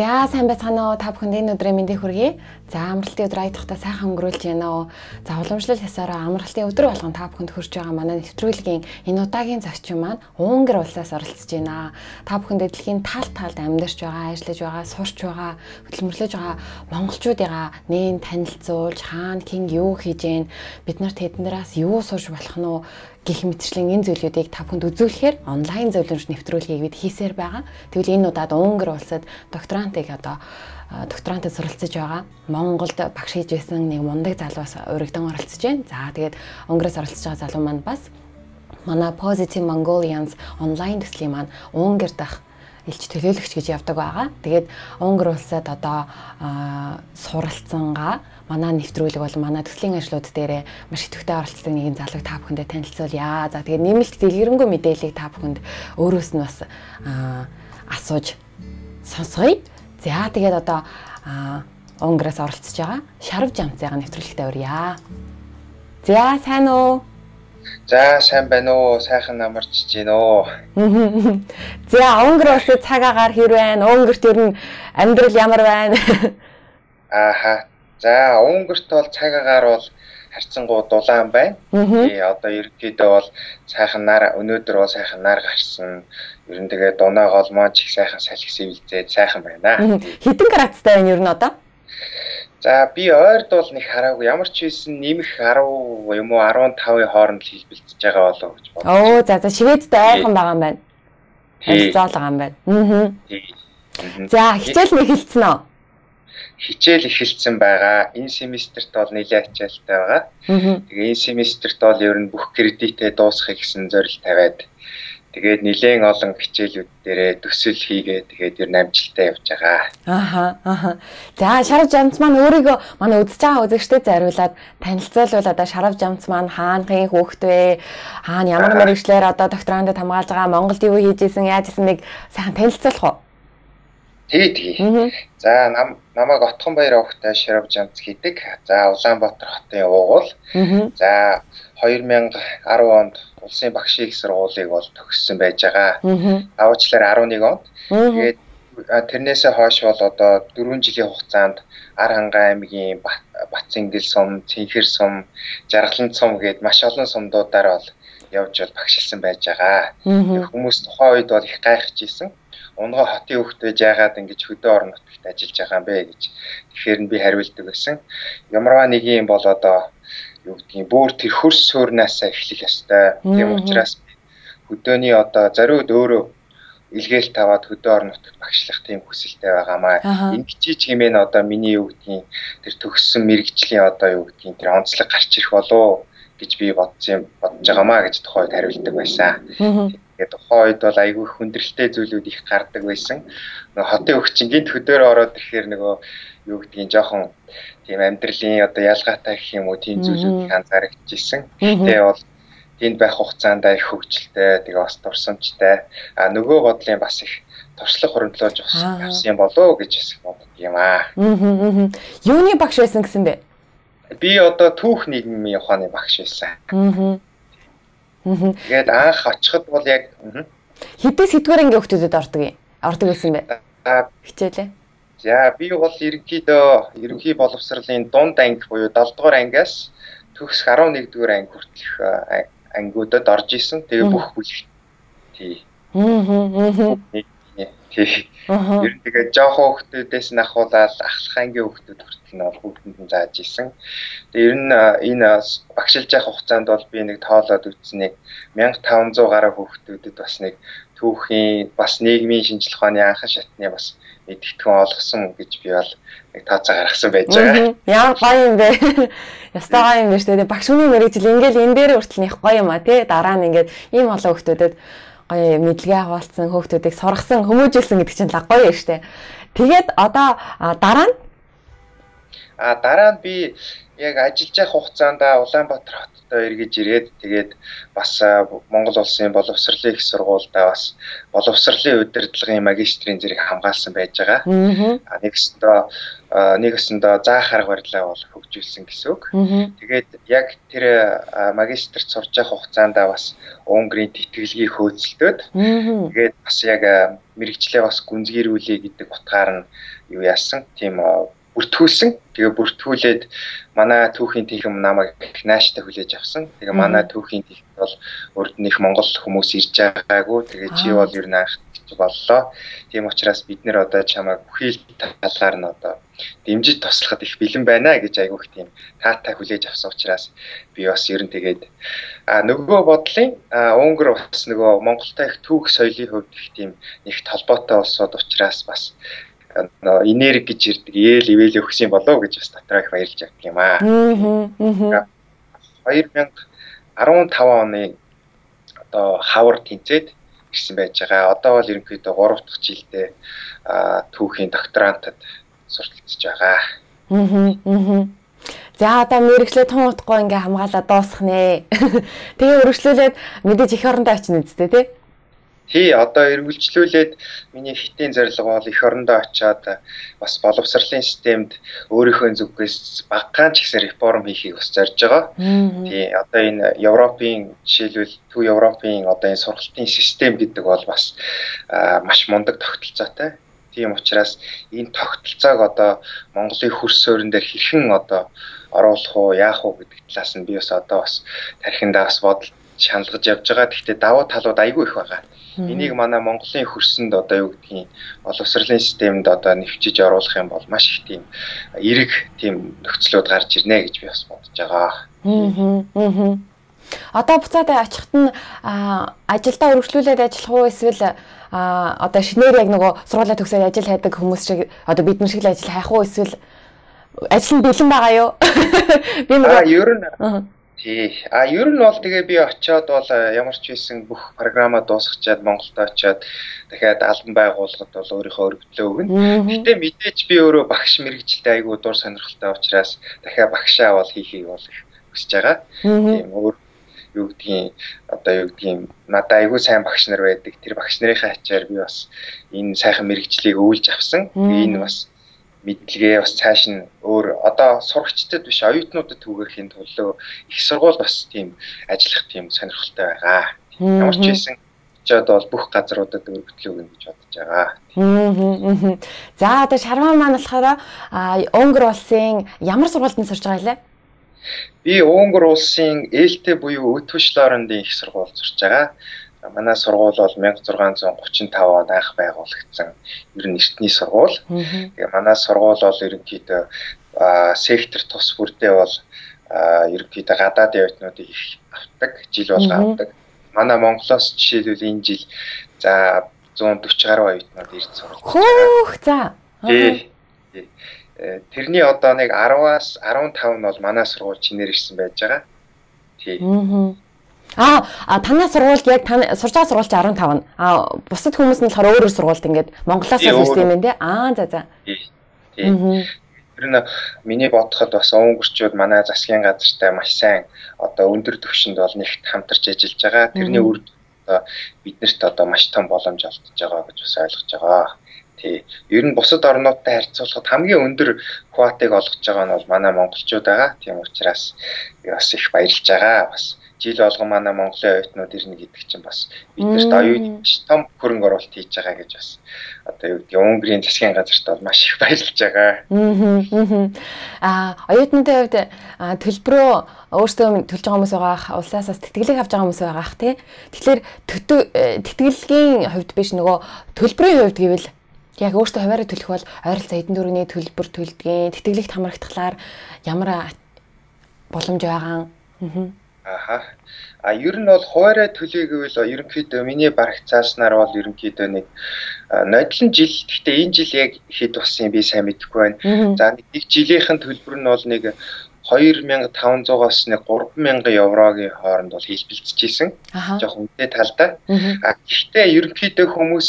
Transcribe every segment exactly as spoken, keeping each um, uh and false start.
За сайн байцгаана уу та бүхэнд энэ өдрийн мэндийг хүргэе. За амралтын өдөр айдахтаа сайхан өнгөрүүлж байна уу. За уламжлал ясаараа амралтын өдөр болгон та бүхэнд хүрч байгаа манай нэвтрүүлгийн энэ удаагийн зочин маань Унгар улсаас оролцож байна. Та бүхэнд дэлхийн тал талд амьдарч байгаа, ажиллаж байгаа, сурч байгаа, хөдөлмөрлөж байгаа монголчуудыгаа нээн танилцуулж хаана хэн юу хийж гэн бид нарт тэднээс юу сурч болох нь уу гэх мэтчлийн энэ зүйлүүдийг та бүхэнд үзүүлэхээр онлайн зөвлөмж нэвтрүүлгийг бид хийсээр байгаа. Тэгвэл энэ удаад Унгар улсад докторантыг одоо докторантад суралцж байгаа. Монголд багш хийж байсан нэг мундаг залуус урагдан оролцож байна. За тэгээд Унгараас оролцож байгаа залуу маань бас манай Positive Mongolians онлайн төслийн маань Унгарт ах элч төлөөлөгч гэж явдаг байгаа. Тэгээд Унгар улсад одоо суралцсангаа манай нэвтрүүлэг бол манай төслийн ажлууд дээр маш идэвхтэй оролцдог нэгэн залууг та бүхэндээ танилцуулъя. За тэгээд нэмэлт дэлгэрэнгүй мэдээллийг та бүхэнд өөрөөс нь бас асууж сонсгоё. За тэгээд одоо Унгараас оролцож байгаа Шарав Жамцыгаа нэвтрүүлэгтээ урья. За сайн уу? За сайн байна уу? Сайхан амарч гин үү? За Унгар улсад цаг агаар хэр байна? Унгарт ер нь амьдрал ямар байна? Ааха. За Унгарт бол цаг агаар бол харьцангуй дулаан байна. Тий одоо ерөнхийдөө бол сайхан нар өнөөдөр бол сайхан нар гарсан. Ер нь тэгээ дунаа голмоо ч их сайхан салхи сэвэлзээд сайхан байна. Хэдэн градустай байна ер нь одоо? За би ойрд бол нэг хараагүй ямар ч байсан нэмэх десять юм уу15-ын хооронд хэлбэлцэж байгаа болов гэж бодлоо. Оо за за шивэдтэй айхан байгаа юм байна. Хэлцээл байгаа юм байна. Аа. За хичээл нэг хэлсэн үү? Хичээл эхэлсэн байгаа. Энэ семестрт бол нэлээд ачаалттай байгаа. Тэгээ энэ семестрт бол ер нь бүх кредитээ дуусгахыг гэсэн зорилт тавиад тэгээд нэлээд олон хичээлүүд дээрээ төсөл хийгээ тэгээд ер нь амжилттай явж байгаа. Ааха ааха. За Шарав Жамц маань өөрийгөө манай үзэж байгаа үзэгчдэд зориулаад танилцуулбал одоо Шарав Жамц маань хаанхын хүүхэд вэ? Хаана ямар мэргэжлэр одоо докторантад хамгаалж байгаа? Монголд юу хийж исэн, яаж исэн нэг сайхан танилцуулах уу? Тий, тий. За нам намайг Отгонбаяр овогтой Шарав Жамц гэдэг. За Улаанбаатар хотын уугуул. За две тысячи десять онд улсын багшийн их сургуулийг бол төгссөн байж байгаа. Даваачлаар eleven онд. Тэгээд тэрнээсээ хойш бол одоо four жилийн хугацаанд Ар хангай аймгийн Батцингэл сум, Цэнхэр сум, Жаргалан сум гээд маш олон сумдуудаар бол явж бол багшилсан байж байгаа. Хүмүүс тухайн үед бол их гайхаж исэн. Унгоо хотын хөвгт байж яагаад ингэж хөдөө орон нутагт ажиллаж байгаа юм бэ гэж. Тэгэхээр би хариулдаг байсан. Ямарваа нэг юм бол одоо юу гэдгийг бүр тэр хөрс суурнаасаа эхлэх ёстой. Тийм учраас хөдөөний одоо зориуд өөрөө илгээл таваад хөдөө орон нутагт багшлах тийм хүсэлтэй байгаамаа. Ингичиж хэмээн одоо миний юу гэдгийг тэр төгссөн мэрэгжлийн одоо юу гэдгийг тэр онцлог гарч ирэх болов гэж би бодсон бодож байгаамаа гэж тухайд хариулдаг байсан. Тэгээд тухайн үед бол айгүй хүндрэлтэй зүйлүүд их гардаг байсан. Нөгөө хотын хөвчин гинт хөдөөр ороод ирэхээр нөгөө юу гэдгийг жоохон тийм амьдралын одоо ялгаатай гэх юм уу тийм зүйлүүд их анзаарчихжээ. Тэгээ бол тэнд байх хугацаанд их хөвгчлээ, тэгээ бас дурсамжтай. А нөгөө бодлын бас их туршлага хөрөнгөлөж авсан болоо гэж бас боддог юм аа. Юуны багш байсан гэсэн бэ? Би одоо түүх нийгмийн ухааны багш байсан. Аа. Тэгээд анх очиход бол яг хэдэн сэдвэр ангийн хүүхдүүдэд ордог юм. Ордог байсан бэ? Хичээлээ. За би бол ерөнхийдөө ерөнхий боловсролын дунд анги буюу seven дугаар ангиас төгс eleven дугаар анги хүртэлх ангиудад орж исэн. Тэгээ бүх бүлэг. Тий. Аа. Тий. Ер нь тэгээ жоохон хүүхдүүдээс нь ахуулаад ахлах ангийн хүүхдүүд хүртэл нь бол хүүхдэнд нь зааж исэн. Тэгээ ер нь энэ багшилж явах хугацаанд бол би нэг тоолоод үзснэг fifteen hundred гаруй хүүхдүүдэд бас нэг түүхийн бас нийгмийн шинжлэх ухааны анхан шатны бас мэдгэдэгэн олгосон гэж би бол нэг тооцоо гаргасан байж байгаа. Яа гоё юм бэ. Ястаа гоё юм байна шүү дээ. Багш хүний мэргэжил ингээл энэ дээр хүртэл нэх гоё юм а тий. Дараа нь ингээд ийм олон хүүхдүүдэд гоё мэдлэгээ хуваалцсан хүүхдүүдийг сургасан, хүмүүжүүлсэн гэдэг чинь л гоё юм шүү дээ. Тэгээд одоо дараа нь А дараа нь би яг ажиллаж явах хугацаанд Улаанбаатар хотод эргэж ирээд тэгээд бас Монгол улсын боловсролын их сургуультай бас боловсролын удирдлагын магистрийн зэрэг хамгаалсан байж байгаа. А нэгсэндээ нэгэсэндээ заах арга барилаа бол хөгжүүлсэн гэсэн үг. Тэгээд яг тэр магистрт сурж явах хугацаанд бас Унгарын тэтгэлгийг хөөцөлдөөд тэгээд бас яг мэрэгчлээ бас гүнзгийрүүлээ гэдэг утгаар нь юу яасан. Тийм бүртгүүлсэн. Тэгээ бүртгүүлээд манай түүхийн тэнхэм намайг нааштай хүлээж авсан. Тэгээ манай түүхийн тэнхэм бол урд нь их Монгол хүмүүс ирж байгаагүй. Тэгээ чи бол ер нь анх боллоо. Тийм учраас бид нэр одоо чамайг бүхий л талаар нь одоо дэмжиж туслахад их бэлэн байна гэж айгүйх тийм таатай хүлээж авсан учраас би бас ер нь тэгээд а нөгөө бодлын Унгар бас нөгөө Монголтой их түүх соёлын хувьд их тийм нэгт холбоотой улсууд учраас бас энерги гэж ирдэг ээл ивэл өгсөн болов гэж бас дотроо их баярлж авдаг юм аа. хоёр мянга арван таван оны одоо хавар тэнцээд ирсэн байж байгаа. Одоо бол ерөнхийдөө гурав дахь жилдээ түүхийн докторантад сурталчилж байгаа. Аа. За одоо мэрэгчлээ тун утгагүй ингээ хамгаалаад дуусгах нэ. Тэгээ өргөжлүүлээд мэдээж их орондоо очно үсттэй тий. Тий, одоо эргүүлжлүүлээд миний хитийн зорилго бол эх орондоо очиад бас боловсролын системд өөрийнхөө зүгээс багахан ч гэсэн реформ хийхийг бас зорж байгаа. Тий, одоо энэ Европын жишээлбэл Төв Европын одоо энэ сургалтын систем гэдэг бол бас маш мундаг тогтолцоотой. Тийм учраас энэ тогтолцоог одоо Монголын хөрс суурин дээр хэрхэн одоо оруулах уу, яах уу гэдэг талаас нь би бас одоо бас тархиндаа бас бодол шаналгаж явж байгаа. Гэхдээ давуу талууд айгүй их байгаа. Энийг манай Монголын хөрсөнд одоо юу гэдгийг боловсролын системд одоо нэвчиж оруулах юм бол маш их тийм эерэг тийм нөхцлүүд гарч ирнэ гэж би бас бодож байгаа. Аа. Одоо буцаад очихт нь ажилдаа өргөжлүүлээд ажиллах уу эсвэл одоо шинээр яг нөгөө сургуулаа төгсөөд ажил хайдаг хүмүүс шиг одоо бид нар шиг л ажил хайх уу эсвэл ажил нь бэлэн байгаа юу? Би нөгөө ер нь тий. А ер нь бол тэгээ би очиод бол ямар ч байсан бүх програмаа дуусгачаад Монголд очиод дахиад албан байгууллагад бол өөрийнхөө өргөдлөө өгнө. Гэтэ мэдээж би өөрөө багш мэрэгчлээ айгүй дур сонирхолтой учраас дахиад багшаа бол хийхийг бол хүсэж байгаа. Тийм өөр юу гэдгийг одоо юу гэдгийг надад айгүй сайн багш нар байдаг. Тэр багш нарын ачаар би бас энэ сайхан мэрэгчлийг өвлж авсан. Энэ бас мэдлэгээ бас цааш нь өөр одоо сурагчдад биш оюутнуудад түгээхийн төлөө их сургууль бас тийм ажиллах тийм сонирхолтой байгаа. Ямар ч байсан очиод бол бүх газруудад өргөдлөө өгнө гэж бодож байгаа. За одоо Шармаа маань болохоор Унгар улсын ямар сургуульд сурч байгаа лээ? Би Унгар улсын ээлтэй буюу Өтвөшлорондын их сургуульд сурч байгаа. Манай сургууль бол мянга зургаан зуун гучин тав онд анх байгуулагдсан ер нь эртний сургууль. Тэгээ манай сургууль бол ерөнхийдөө сектор тус бүрдээ бол ерөнхийдөө гадаадын оюутнуудыг их авдаг, жил болго авдаг. Манай Монголоос жишээлбэл энэ жил за зуун дөрвөн гаруй оюутнууд ирж сурч байгаа. Хөөх за. Тий. Тэрний одоо нэг араваас арван тав нь бол манай сургууль чинээр ирсэн байж байгаа. Тий. Аа, а танай сургуульд яг таны сурч байгаа сургуульч арван тав нь. Аа, бусад хүмүүс нь болохоор өөр өөр сургуульд ингээд Монголоос ирсэн юм байна те. Аа, за за. Тийм. Тэр нь миний бодоход бас өнгөрчүүд манай засгийн газартай маш сайн одоо өндөр түвшинд бол нэгт хамтарч ажиллаж байгаа. Тэрний үр одоо биднэрт одоо маш том боломж олдож байгаа гэж бас ойлгож байгаа. Тий. Ер нь бусад орнуудтай харьцуулахад хамгийн өндөр квотыг олгож байгаа нь бол манай монголчууд байгаа. Тийм учраас би бас их баярлж байгаа. Бас жил болгон манай Монголын оюутнууд ирнэ гэдэг чинь бас биднэрт оюутан том хөрөнгө оруулалт хийж байгаа гэж бас одоо юу гэдэг Унгарын засгийн газарт бол маш их баярлж байгаа. Аа оюутнуудын хувьд төлбөрөө өөрсдөө төлж байгаа хүмүүс байгаа, улсаас бас тэтгэлэг авч байгаа хүмүүс байгаа тий. Тэгэхээр тэтгэлгийн хувьд биш нөгөө төлбөрийн хувьд гэвэл яг өөртөө хуваараа төлөх бол ойролцоо хэдэн төгрөгийн төлбөр төлдгийн тэтгэлэгт хамрагдахлаар ямар боломж байгаа. Аха. А ер нь бол хуваараа төлөе гэвэл ерөнхийдөө миний барагцааснаар бол ерөнхийдөө нэг нодлон жил. Гэхдээ энэ жил яг хэд болсон би сайн мэдэхгүй байна. За нэг жилийнхэн төлбөр нь бол нэг хоёр мянга таван зугаас нэг гурван мянган еврогийн хооронд бол хэлбэлцэжсэн. Жохо үнэтэй талдаа. А гэхдээ ерөнхийдөө хүмүүс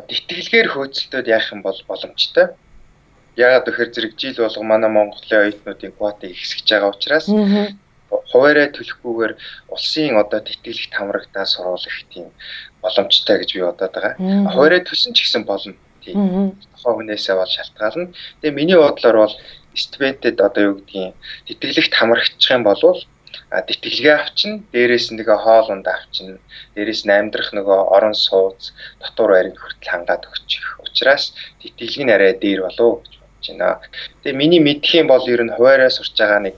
тэтгэлгээр хөөцөлтөд яах юм бол боломжтой. яагаад гэхээр зэрэг жил болго манай Монголын оюутнуудын квотыг ихсэж байгаа учраас хуваарай төлөхгүйгээр улсын одоо тэтгэлэгт хамрагдаа сургуулах тийм боломжтой гэж би бодоод байгаа. Хуваарай төлсөн ч гэсэн болно. Тийм. Тухайн хүнээсээ бол шалтгаална. Тэгээ миний бодлоор бол стипендид одоо юу гэдгийг тэтгэлэгт хамрагдчих юм бол тэтгэлгээ авчна, дээрээс нэг хоол унд авчна, дээрээс нь амьдрах нөгөө орон сууц, дотор байрыг хүртэл хангаад өгчих. Учираас тэтгэлэг нь арай дээр болов гэж бодож байна. Тэгээ миний мэдх юм бол ер нь хуваарай сурч байгаа нэг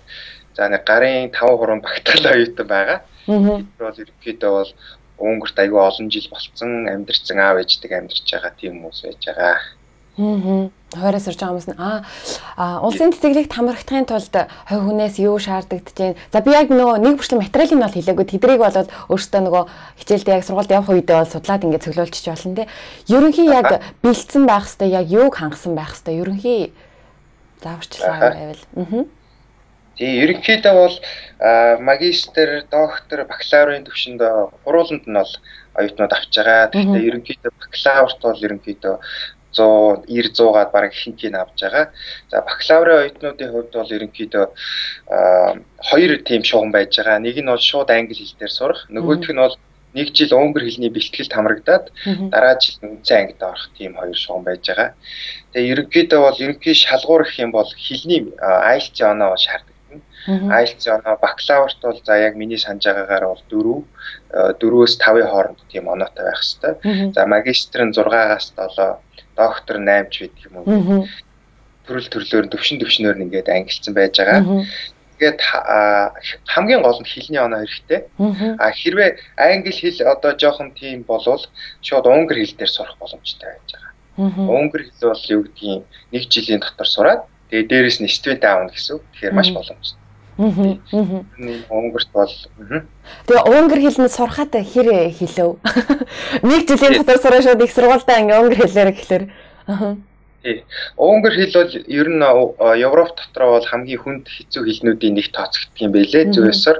за нэг гарын таван хуран багтаал оюутан байгаа. Тэр бол ерөнхийдөө бол Унгарт аягүй олон жил болцсон, амьдарсан аав ээждэг амьдарч байгаа тийм хүмүүс байж байгаа. Аа. Хуваарай сурж байгаа хүмүүс нь аа улсын тэтгэлэгт хамрагдахын тулд хувь хүнээс юу шаардлагадж байна. За би яг нөгөө нэг бүрчлэн материалыг нь бол хэлээгүй. Тэдрийг бол өөртөө нөгөө хичээлдээ яг сургуульд явах үедээ бол судлаад ингээд цөглөөлчих болно те. Ерөнхий яг бэлдсэн байх хэвээр яг юуг хангасан байх хэвээр ерөнхий зааварчилгаа байвал. Аа. Тэгээ ерөнхийдөө бол магистр, доктор, бакалаврын түвшинд хурууланд нь бол оюутнууд авч байгаа. Тэгэхээр ерөнхийдөө бакалаврт бол ерөнхийдөө зуун девяносто зуугаад бараг ихэнх нь авч байгаа. За бакалаврын оюутнуудын хувьд бол ерөнхийдөө хоёр тийм шугам байж байгаа. Нэг нь бол шууд англи хэл дээр сурах, нөгөөх нь бол нэг жил унгар хэлний бэлтгэлд хамрагдаад дараа жил үндсэн ангид орох тийм хоёр шугам байж байгаа. Тэгээ ерөнхийдөө бол ерөнхий шалгуур гэх юм бол хэлний ай эл ти эс оноо шаарддаг. ай эл ти эс оноо бакалаврт бол за яг миний санаж байгаагаар бол дөрөв, дөрвөөс тавын хооронд тийм оноотой байх хэвээр. За магистр нь зургаагаас долоо, доктор восемь ч байдаг юм уу. Төрөл төрлөөр төвшин төвшнөөр нь ингээд ангилсан байж байгаа. Тэгээд хамгийн гол нь хэлний оноо хэрэгтэй. А хэрвээ англи хэл одоо жоохон тийм болвол шууд унгар хэл дээр сурах боломжтой байж байгаа. Унгар хэл бол юу гэдгийг нэг жилийн дотор сураад тэгээд дээрэс нь стипенд аавна гэсэн. Тэгэхээр маш боломжтой. Аа. Унгарт бол тэгээ унгар хэлний сурахад хэр хэлв? Нэг жилийн дотор сурах шууд их сургуультай ингээ унгар хэлээр гэхэлэр. Аа. Тий. Унгар хэл бол ер нь Европ дотор бол хамгийн хүнд хэцүү хэлнүүдийн нэг тооцогддог юм байлээ зөвөөсөр.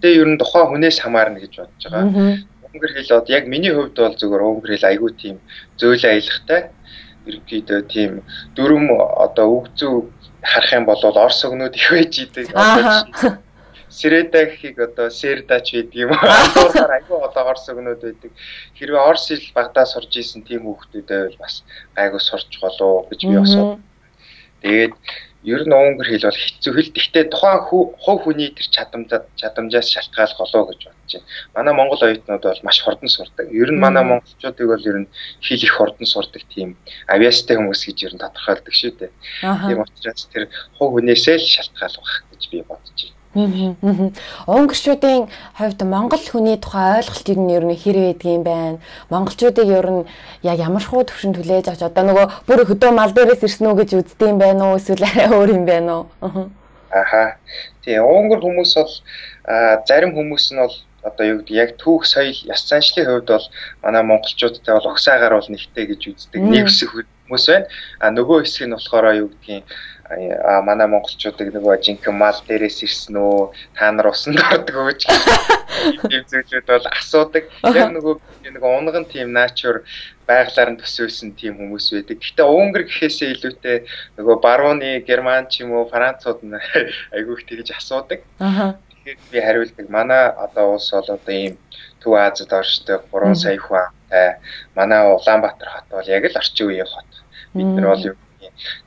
Тэгээ ер нь тухайн хүнээс хамаарна гэж бодож байгаа. Унгар хэл бол яг миний хувьд бол зөвхөн унгар хэл айгүй тийм зөөлөн аялахтай. Ерөнхийдөө тийм дөрөв одоо үгзүү харах юм бол орс өгнүүд их байж идэг. Одоо Среда гэхийг одоо сердач байдаг юм уу? Асуухаар айгүй одоо орс өгнүүд байдаг. Хэрвээ орс хэл багтаа сурж исэн тийм хүүхдүүдээ бол бас айгүй сурч болов гэж би асуу. Тэгээд ер нь унгар хэл бол хэцүү хэл. Гэхдээ тухайн хувь хүний тэр чадамжаа чадамжаас шалтгаалх болов гэж бодож байна. Манай монгол оюутнууд бол маш хурдан сурдаг. Ер нь манай монголчуудыг бол ер нь хэл их хурдан сурдаг тийм авиастай хүмүүс гэж ер нь тодорхойлдог шүү дээ. Тийм учраас тэр хувь хүнээсээ л шалтгаалах гэж би бодож байна. Унгарчуудын хувьд монгол хүний тухай ойлголт нь ер нь хэр байдаг юм байна? Монголчуудыг ер нь яг ямар хуу төвшөнд хүлээж авч одоо нөгөө бүр хөдөө мал дээрээс ирсэн үү гэж үздэг юм байна уу? Эсвэл арай өөр юм байна уу? Аха. Тэгээ унгар хүмүүс бол зарим хүмүүс нь бол одоо юу гэдэг яг түүх соёл яс заншлын хувьд бол манай монголчуудтай бол угсаагаар бол нэгтэй гэж үздэг. Нэг хэсэг хүмүүс байна. А нөгөө хэсэг нь болохоор юу гэдгийг а манай монголчуудыг нөгөө жинхэнэ мал дээрээс ирсэн үү, та нар усанд ордог үү гэж тийм зүйлүүд бол асуудаг. Яг нөгөө нөгөө унган тийм натур байгалаар нь төсөөсөн тийм хүмүүс байдаг. Гэхдээ унгар гэхээсээ илүүтэй нөгөө барууны герман ч юм уу францууд нь айгүйх тэгж асуудаг. Тэгэхээр би хариулдаг. Манай одоо улс бол одоо ийм Төв Азид оршдог гурван сая хүн амтай. Манай Улаанбаатар хот бол яг л орчин үеийн хот. Бид нар бол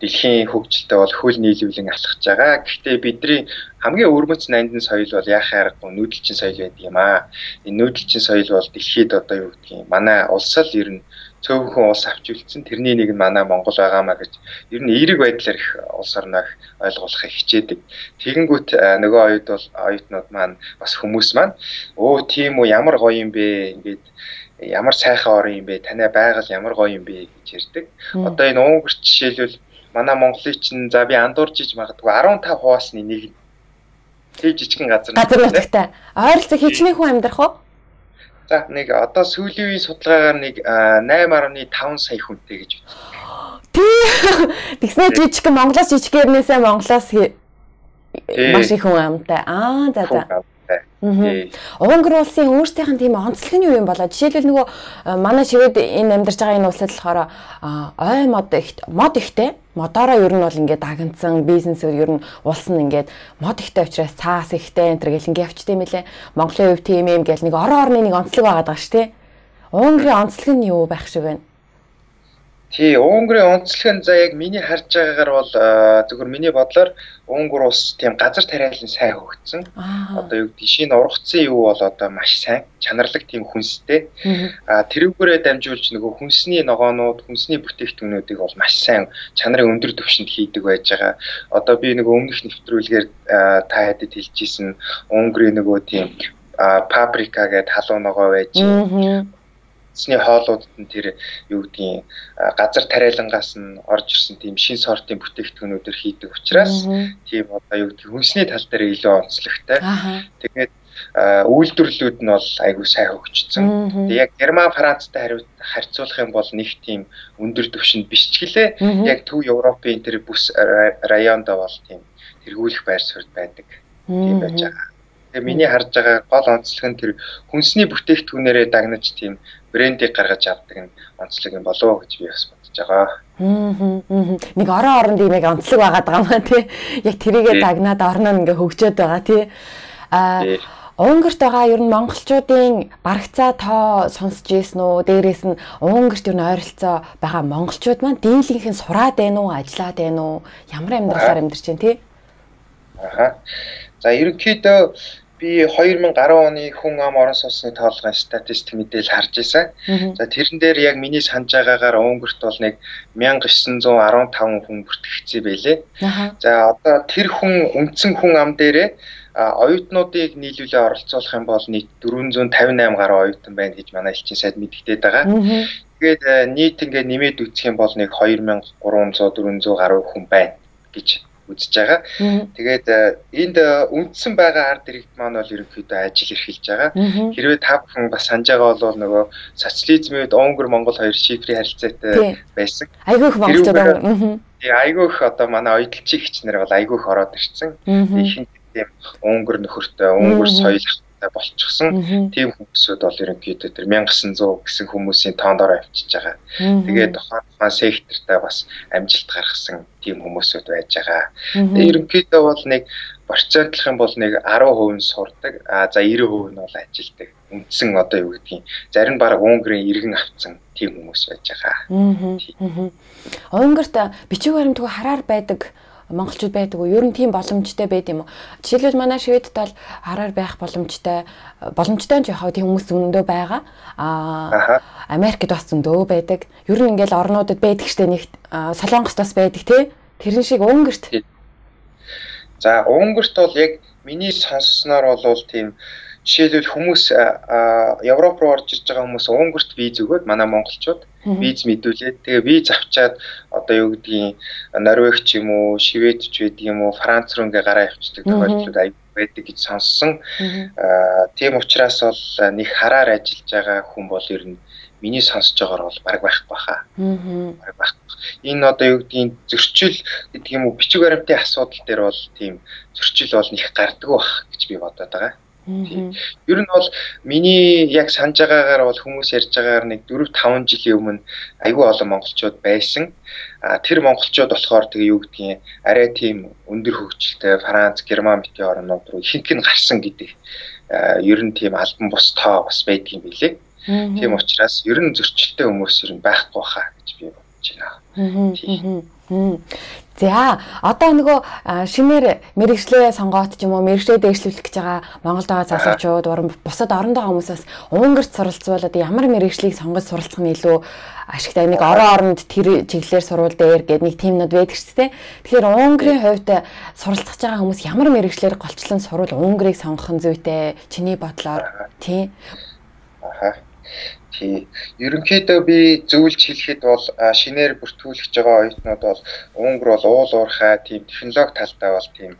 дэлхийн хөгжилтэй бол хөл нийлүүлэн алхаж байгаа. Гэхдээ бидний хамгийн өвөрмөц нандин соёл бол яхаар аргагүй нүүдэлчин соёл байдаг юм аа. Энэ нүүдэлчин соёл бол дэлхийд одоо юу гэдгийг манай улс л ер нь цөөхөн улс авч үлдсэн. Тэрний нэг нь манай Монгол байгаамаа гэж ер нь эерэг байдлаар их улс орноо ойлгуулахыг хичээдэг. Тэгэнгүүт нөгөө оюут бол оюутнууд маань бас хүмүүс маань өө тийм үү ямар гоё юм бэ ингээд ямар сайхан орн юм бэ? Танай байгаль ямар гоё юм бэ гэж ярьдаг. Одоо энэ унгар жишээлбэл манай Монголын чинь за би андуурж иж магадгүй арван тавь хуваасны нэг тийм жижигхэн газар. Газар нутагтай. Ойролцоо хичнээн хүн амьдрах уу? За нэг одоо сүүлийн үеийн судалгаагаар нэг найман гаруй таван сая хүнтэй гэж байна. Тийм. Тэгснэ жижигхэн Монголоос жижигэрнээсээ Монголоос маш их хүн амтай. Аа за за. Унгар улсын өөрсдийнх нь тийм онцлог нь юу юм болоо? Жишээлбэл нөгөө манай шивэд энэ амьдарч байгаа энэ улсад болохоор ой мод их мод ихтэй. Модороо ер нь бол ингээд дагнцсан бизнесээр ер нь улс нь ингээд мод ихтэй учраас цаас ихтэй энэ төр гэл ингээд явчтай юм лээ. Монголын хувьд тийм юм гэл нэг орон орны нэг онцлог байгаад байгаа шүү дээ. Унгарын онцлог нь юу байх шиг байна? Тий, Унгарын онцлог нь за яг миний харж байгаагаар бол зөвхөн миний бодлоор Унгар улс тийм газар тариалан сайн хөгжсөн. Одоо юу гэдэг шинэ ургацсан юу бол одоо маш сайн, чанарлаг тийм хүнстэй. А тэрүүгээрээ дамжуулж нөгөө хүнсний ногоонууд, хүнсний бүтээгдэхүүнүүдийг бол маш сайн чанарын өндөр түвшинд хийдэг байж байгаа. Одоо би нөгөө өмнөх нэвтрүүлгээр та хэдэд хэлжсэн Унгарын нөгөө тийм паприка гэдэг халуун ногоо байж. Сний хоолуудад нь тэр юу гэдгийг газар тариалангаас нь орж ирсэн тийм шин сортын бүтээгдэхүүнүүдээр хийдэг учраас тийм одоо юу гэдгийг хүнсний тал дээр илүү онцлогтой. Тэгээд үйлдвэрлэлүүд нь бол айгүй сайн хөгжсөн. Тэгээд яг Герман, Францтай харьцуулах юм бол нэг тийм өндөр түвшинд биш ч гэлээ яг Төв Европын тэр бүс районд бол тийм тэргүүлэх байр суурь байдаг. Тийм байж байгаа. Тэгээд миний харж байгаа гол онцлог нь тэр хүнсний бүтээгдэхүүнээрээ дагнаж тийм брендийг гаргаж авдаг нь онцлог юм болов гэж би бас бодож байгаа. Аа. Нэг орон оронд ийм яг онцлог байгаад байгаа маа тий. Яг тэрийгээ дагнаад орноо ингээ хөгжөөд байгаа тий. Аа Унгарт байгаа ер нь монголчуудын барагцаа тоо сонсч ийсэн үү? Дээрээс нь Унгарт ер нь ойролцоо байгаа монголчууд маань дийлэнх нь сураад байна уу, ажиллаад байна уу? Ямар амьдралаар амьдарч байна тий? Аха. За ерөнхийдөө би хоёр мянга гаруй оны хүн ам орон сууцны тоолгын статистик мэдээлэл харж байсан. За тэрэн дээр яг миний санаж байгаагаар Унгарт бол нэг мянга девятьсот дөрвөн хүн бүртгэгдсэн байлээ. За одоо тэр хүн үндсэн хүн ам дээрээ оюутнуудыг нийлүүлээ оролцуулах юм бол нийт дөрвөн тавин восемь гаруй оюутан байна гэж манай элчин сайд мэдгдээд байгаа. Тэгээд нийт ингээд нэмээд үзэх юм бол нэг хоёр мянга гурван зуун дөрвөн зуун гаруй хүн байна гэж үзэж байгаа. Тэгээд энд үндсэн байгаа ард иргэд маань бол ерөнхийдөө ажил эрхэлж байгаа. Хэрвээ та бүхэн бас санаж байгаа бол нөгөө социализмд Унгар Монгол хоёр шифрийн харилцаатай байсан. Айгүйх монголчууд аа. Тэгээ айгүйх одоо манай оюутчиг хичнэр бол айгүйх ороод ирсэн. Ихэнх тийм Унгар нөхөртэй, Унгар соёл болчихсон. Тийм хүмүүсүүд бол ерөнхийдөө тэр мянга девятьсот гэсэн хүмүүсийн тоондоор авчиж байгаа. Тэгээд тухайн тухайн сектортай бас амжилт гаргасан тийм хүмүүсүүд байж байгаа. Тэгээд ерөнхийдөө бол нэг процентлох юм бол нэг десять хувь сурдаг. А за девяносто хувь нь бол ажилдаг. Үндсэн одоо юу гэдгийг зарим баг Унгарын иргэн авцсан тийм хүмүүс байж байгаа. Унгарт бичиг баримтгүй хараар байдаг монголчууд байдаг уу? Ер нь тийм боломжтой байд юм уу? Жишээлбэл манай Шведд бол хараар байх боломжтой боломжтой ч яхаа тийм хүмүүс зөндөө байгаа. Аа Америкт бас зөндөө байдаг. Ер нь ингээл орнуудад байдаг штэ нэг Солонгост бас байдаг тий. Тэрэн шиг Унгарт. За Унгарт бол яг миний сонссноор бол тийм жишээлбэл хүмүүс Европ руу орж ирж байгаа хүмүүс Унгарт виз өгөөд манай монголчууд виз мэдүүлээд тэгээ виз авчаад одоо юу гэдгийг Норвег ч юм уу, Швед ч байдаг юм уу, Франц руу ингээ гараа явчихдаг тохиолдлууд аяг байдаг гэж сонссон. Тийм учраас бол нэг хараар ажиллаж байгаа хүн бол ер нь миний сонсож байгаагаар бол баг байхгүй баха. Баг байхгүй. Энэ одоо юу гэдгийг зөрчил гэдэг юм уу, бичиг баримтын асуудал дээр бол тийм зөрчил бол нэг гардаг бах гэж би бодоод байгаа. Ер нь бол миний яг санаж байгаагаар бол хүмүүс ярьж байгаагаар нэг дөрвөн таван жилийн өмнө айгүй олон монголчууд байсан. А тэр монголчууд болохоор тэгээ юу гэдгийг арай тийм өндөр хөгжилтэй Франц, Герман битгий орнууд руу ихэнх нь гарсан гэдэг ер нь тийм албан бус тоо бас байдаг юм билээ. Тийм учраас ер нь зөрчилтэй хүмүүс ер нь байхгүй хаа гэж би бодож байна. За одоо нөгөө шинээр мэрэгчлээ сонгоод ч юм уу мэрэгчлээ дэвшлүүлэх гэж байгаа Монголд байгаа залуучууд бусад оронд байгаа хүмүүсээс Унгарт суралцвал одоо ямар мэрэгчлийг сонгож суралцах нь илүү ашигтай нэг орон оронд тэр чиглэлээр сурвал дээр гэдэг нэг тимнүүд байдаг ч тийм. Тэгэхээр Унгарын хувьд суралцах байгаа хүмүүс ямар мэрэгчлэр голчлон сурвал Унгарыг сонгох нь зүйтэй чиний бодлоор тийм. Аха. Тий. Ерөнхийдөө би зөвлөж хэлэхэд бол шинээр бүртгүүлж байгаа оюутнууд бол Унгар бол уул уурхай тийм технологи талдаа бол тийм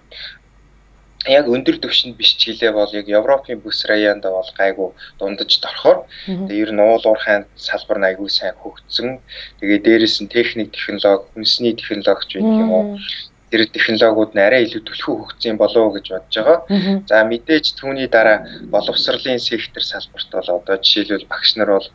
яг өндөр түвшинд биш ч гэлээ бол яг Европын бүс районд бол гайгүй дундаж дорхоор тэгээ ер нь уул уурхайн салбар нь айгүй сайн хөгжсөн. Тэгээ дээрэс нь техник технологи, хүнсний технологич байдаг юм уу. тэр технологиуд нь арай илүү түлхүү хөгжсөн болов уу гэж бодож байгаа. За мэдээж түүний дараа боловсролын сектор салбарт бол одоо жишээлбэл багш нар бол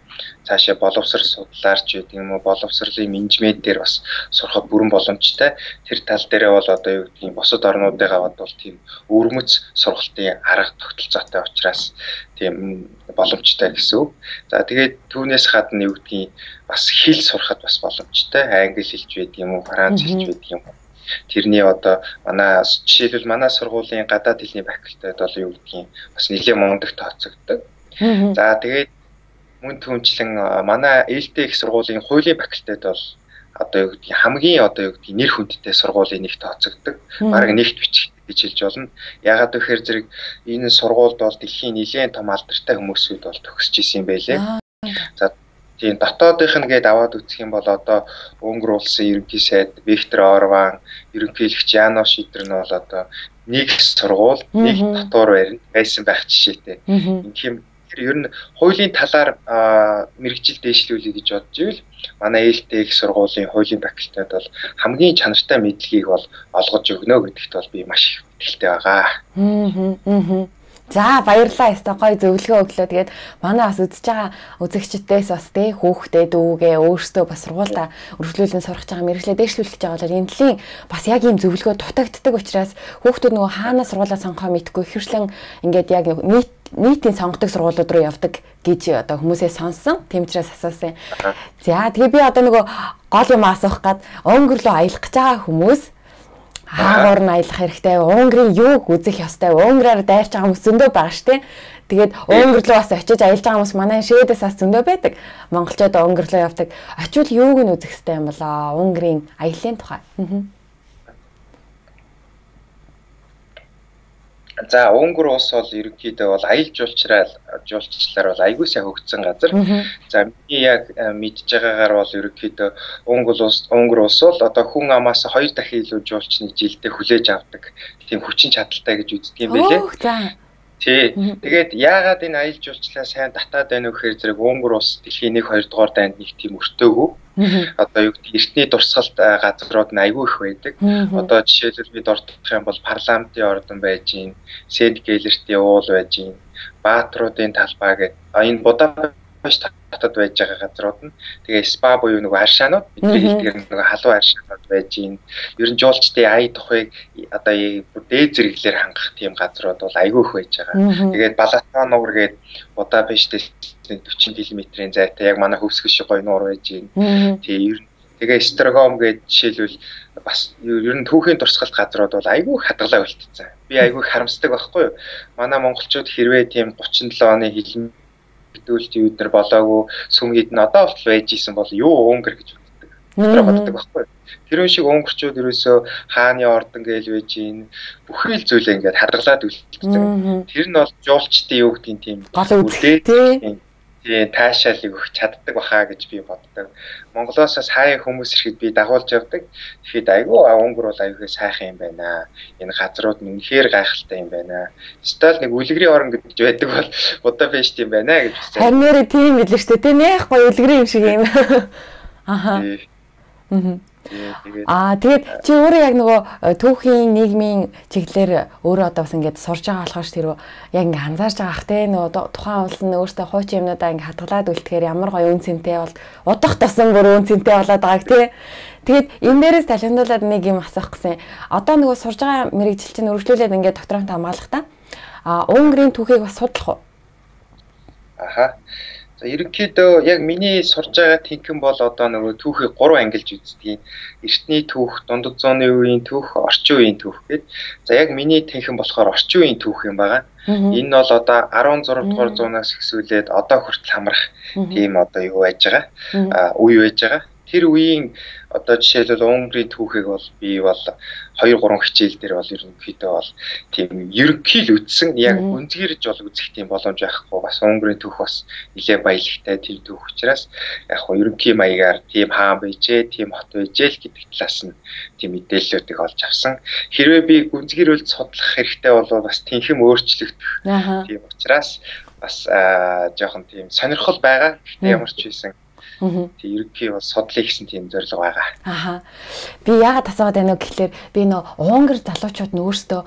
цаашаа боловсрол судлаарч гэдэг юм уу боловсролын менежмент дээр бас сурахад бүрэн боломжтой. Тэр тал дээрээ бол одоо юу гэдгийг бусад орнуудыгаа бод бол тийм өвөрмөц сургалтын арга тогтолцоотой учраас тийм боломжтой гэсэн үг. За тэгээд түүнээс гадна юу гэдгийг бас хэл сурахад бас боломжтой. Англи хэлж байдаг юм уу, франц хэлж байдаг юм уу. Тэрний одоо манай жишээлбэл манай сургуулийн гадаад хэлний факультет бол юу гэдгийг бас нэлээд мундаг тооцогддог. За тэгээд мөн түүнчлэн манай ээлтэй их сургуулийн хуулийн факультет бол одоо юу гэдгийг хамгийн одоо юу гэдгийг нэр хүндтэй сургуулийн нэг тооцогддог. Бараг нэгт бичих гэж хэлж болно. Ягаад гэхээр зэрэг энэ сургуульд бол дэлхийн нэлээд том алдартай хүмүүсүүд бол төгсөж исэн юм байлээ. За тийм дотоодынх нь гээд аваад үзэх юм бол одоо Унгар улсын ерөнхий сайд Виктор Орбан, ерөнхийлөгч Янош Шидер нь бол одоо нэг сургууль, нэг дотор барина байсан байх жишээтэй. Ингэх юм тэр ер нь хуулийн талаар мэрэгжил дэвшлүүлэх гэж бодож ивэл манай ээлтэй их сургуулийн хуулийн факультет бол хамгийн чанартай мэдлэгийг бол олгож өгнө гэдэгт бол би маш их итгэлтэй байгаа. Аа. За баярлалаа яста гоё зөвлөгөө өглөө. Тэгээд манай бас үзэж байгаа үзэгчдээс бас тэ хүүхдээ дүүгээ өөрсдөө бас сургуультай өргөжлүүлэн сурах байгаа мэрэгчлээ дэвшлүүлэх гэж байгаа бол энэ төлийн бас яг ийм зөвлөгөө дутагддаг учраас хүүхдүүд нөгөө хаана сургуулаа сонгохоо мэдгүй хөвшлэн ингээд яг нийт нийтийн сонгодог сургуулиуд руу явдаг гэж одоо хүмүүсээс сонсон. Тийм учраас асуусан. За тэгээ би одоо нөгөө гол юм асуух гад Унгар руу аялах гэж байгаа хүмүүс хаагуур нь аялах хэрэгтэй. Унгарын юуг үзэх ёстой. Унгараар дайрч байгаа хүмүүс зөндөө байгаа штэ. Тэгээд Унгар руу бас очиж аялж байгаа хүмүүс манай шивэдээс бас зөндөө байдаг. Монголчууд Унгар руу явдаг. Очивол юуг нь үзэх ёстой юм болоо? Унгарын аяллаа тухай. За Унгар улс бол ерөнхийдөө бол аялал жуулчлал жуулчлалаар бол айгүй сайн хөгжсөн газар. За миний яг мэдж байгаагаар бол ерөнхийдөө Унгар улс Унгар улс бол одоо хүн амаас хоёр дахин илүү жуулчны жилдээ хүлээж авдаг тийм хүчин чадалтай гэж үздэг юм байлээ. Тий. Тэгээд яагаад энэ аялал жуулчлалаа сайн татаад байна вэ гэхээр зэрэг Унгар улс дэлхийн нэг хоёр дугаар дайнд нэг тийм өртөөгүй. Одоо юу гэдэг эртний дурсгалт газрууд нь айгүй их байдаг. Одоо жишээлбэл бид ордох юм бол парламентын ордон байж гин, Сент Гелертийн уул байж гин, Баатруудын талбай гэдэг. Энэ Будапешт хотод байж байгаа газрууд нь. Тэгээ спа буюу нөгөө аршаанууд бидний хэлдгээр нөгөө халуун аршаанууд байж гин. Ер нь жуулчдын ая тухайг одоо дээд зэрэглэлээр хангах тийм газрууд бол айгүй их байж байгаа. Тэгээд Балатон нуур гэдэг Будапештээс forty км-ийн зайтай яг манай хөвсгөл шиг гоё нуур байж гин. Тэгээ тэгээ Строгом гэдэг жишээлбэл бас ер нь түүхийн дурсгалт газрууд бол айгүй хадгалаа үлдсэн. Би айгүй харамсдаг байхгүй юу? Манай монголчууд хэрвээ тийм thirty seven оны хилэн битүүлэлтийн үед нар болоогүй сүмгийд нь одоо болтол байж исэн бол юу Унгар гэж боддог. Тэр боддог байхгүй юу? Тэр шиг унгарчууд ерөөсөө хааны ордон гээл байж гин бүхэл зүйлээ ингээд хадгалаад үлдсэн. Тэр нь бол жуулчдын юу гэдгийг тийм үлдээ тийм таашаалыг өгч чаддаг бахаа гэж би боддог. Монголоос хаяа хүмүүс ирэхэд би дагуулж явдаг. Тэгэхэд айгүй Унгар бол аюулгүй сайхан юм байна. Энэ газрууд нь үнэхээр гайхалтай юм байна. Стол нэг үлгэрийн орон гэж байдаг бол Будапешт юм байна гэж хэлсэн. Харин нэрээ тийм билээ шүү дээ. Тийм яах гоё үлгэрийн юм шиг юм. Аха. Аа. Аа тэгээд чи өөрөө яг нөгөө түүхийн нийгмийн чиглэлээр өөрөө одоо бас ингээд сурж байгаа болохоор тэр яг ингээд анзаарч байгаа ах те нөгөө тухайн улс нь өөртөө хуучин юмнуудаа ингээд хадгалаад үлдэхээр ямар гоё үн цэнтэй бол удах тасан бүр үн цэнтэй болоод байгааг те. Тэгээд энэ дээрээс талхиндуулаад нэг юм асуух гэсэн. Одоо нөгөө сурж байгаа мэрэгжил чинь өргөжлүүлээд ингээд докторант хамгаалах та. Аа Унгарын түүхийг бас судлах уу? Аха. За ерөнхийдөө яг миний сурж байгаа тэнхэн бол одоо нөгөө түүхийг гурван ангилж үздэг. Эртний түүх, дундад зууны үеийн түүх, орчин үеийн түүх гэдэг. За яг миний тэнхэн болохоор орчин үеийн түүх юм байгаа. Энэ нь бол одоо sixteen дугаар зуунаас эхсүүлээд одоо хүртэл хамрах тийм одоо юу байж байгаа. А үе байж байгаа. Тэр үеийн одоо жишээлбэл Унгарын түүхийг бол би бол two three хичээл дээр бол ерөнхийдөө бол тийм ерөнхий л үтсэн яг үнцгэрж бол үзэх тийм боломж байхгүй бас Унгарын түүх бас нэлээд баялагтай тийм түүх учраас яг хоо ерөнхий маягаар тийм хаан байжээ, тийм хот байжээ л гэдэг талаас нь тийм мэдээллүүдийг олж авсан. Хэрвээ би үнцгэрүүлж судлах хэрэгтэй бол бас тэнхэм өөрчлөгдөх тийм учраас бас жоохон тийм сонирхол байгаа. Гэхдээ ямар ч байсан Тэг ерөнхий бол судлаа гэсэн тийм зорилго байгаа. Аха. Би яагаад асууад байна вэ гэхэлэр би нөө Унгар залуучууд нь өөрсдөө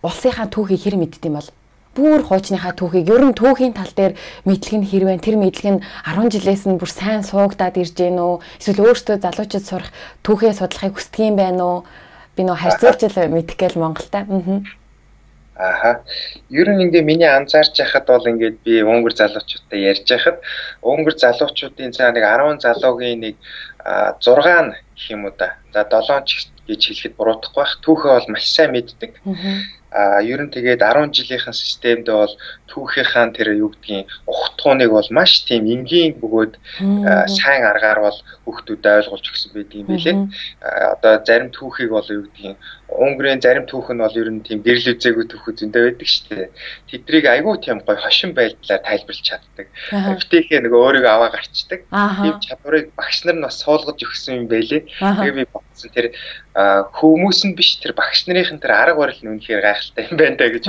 улсынхаа түүхийг хэр мэддэг юм бол бүр хуучныхаа түүхийг ер нь түүхийн тал дээр мэдлэг нь хэрвээ тэр мэдлэг нь арван жилээс нь бүр сайн суугдаад ирж гэнэ үү? Эсвэл өөрсдөө залуучууд сурах түүхээ судлахыг хүсдэг юм байна уу? Би нөө харьцуулж мэдэх гээл Монголтай. Аа. Аха. Ер нь ингээ миний анзаарч байхад бол ингээд би Унгар залуучуудтай ярьж байхад Унгар залуучуудын цаа нэг арван залуугийн нэг зураг нь гэх юм уу да. За долоон ч гэж хэлэхэд буруудахгүй байх. Түүхээ бол маш сайн мэддэг. А ер нь тэгээд арван жилийнхэн системд бол түүхийнхаа тэр юу гэдгийг ухтгууныг бол маш тийм энгийн бөгөөд сайн аргаар бол хүүхдүүдэд ойлгуулж өгсөн байдаг юм билээ. Одоо зарим түүхийг бол юу гэдгийг Унгарын зарим түүх нь бол ер нь тийм гэрэл үзээгүй түүхүүд зөндөө байдаг шүү дээ. Тэдрийг айгүй тийм гоё хошин байдлаар тайлбарлаж чаддаг. Эвтэйхээ нөгөө өөрийгөө аваа гарчдаг. Тийм чадварыг багш нар нь бас суулгаж өгсөн юм байлээ. Тэгээ би бодсон тэр хүмүүс нь биш тэр багш нарын тэр арга барил нь үнэхээр гайхалтай юм байна даа гэж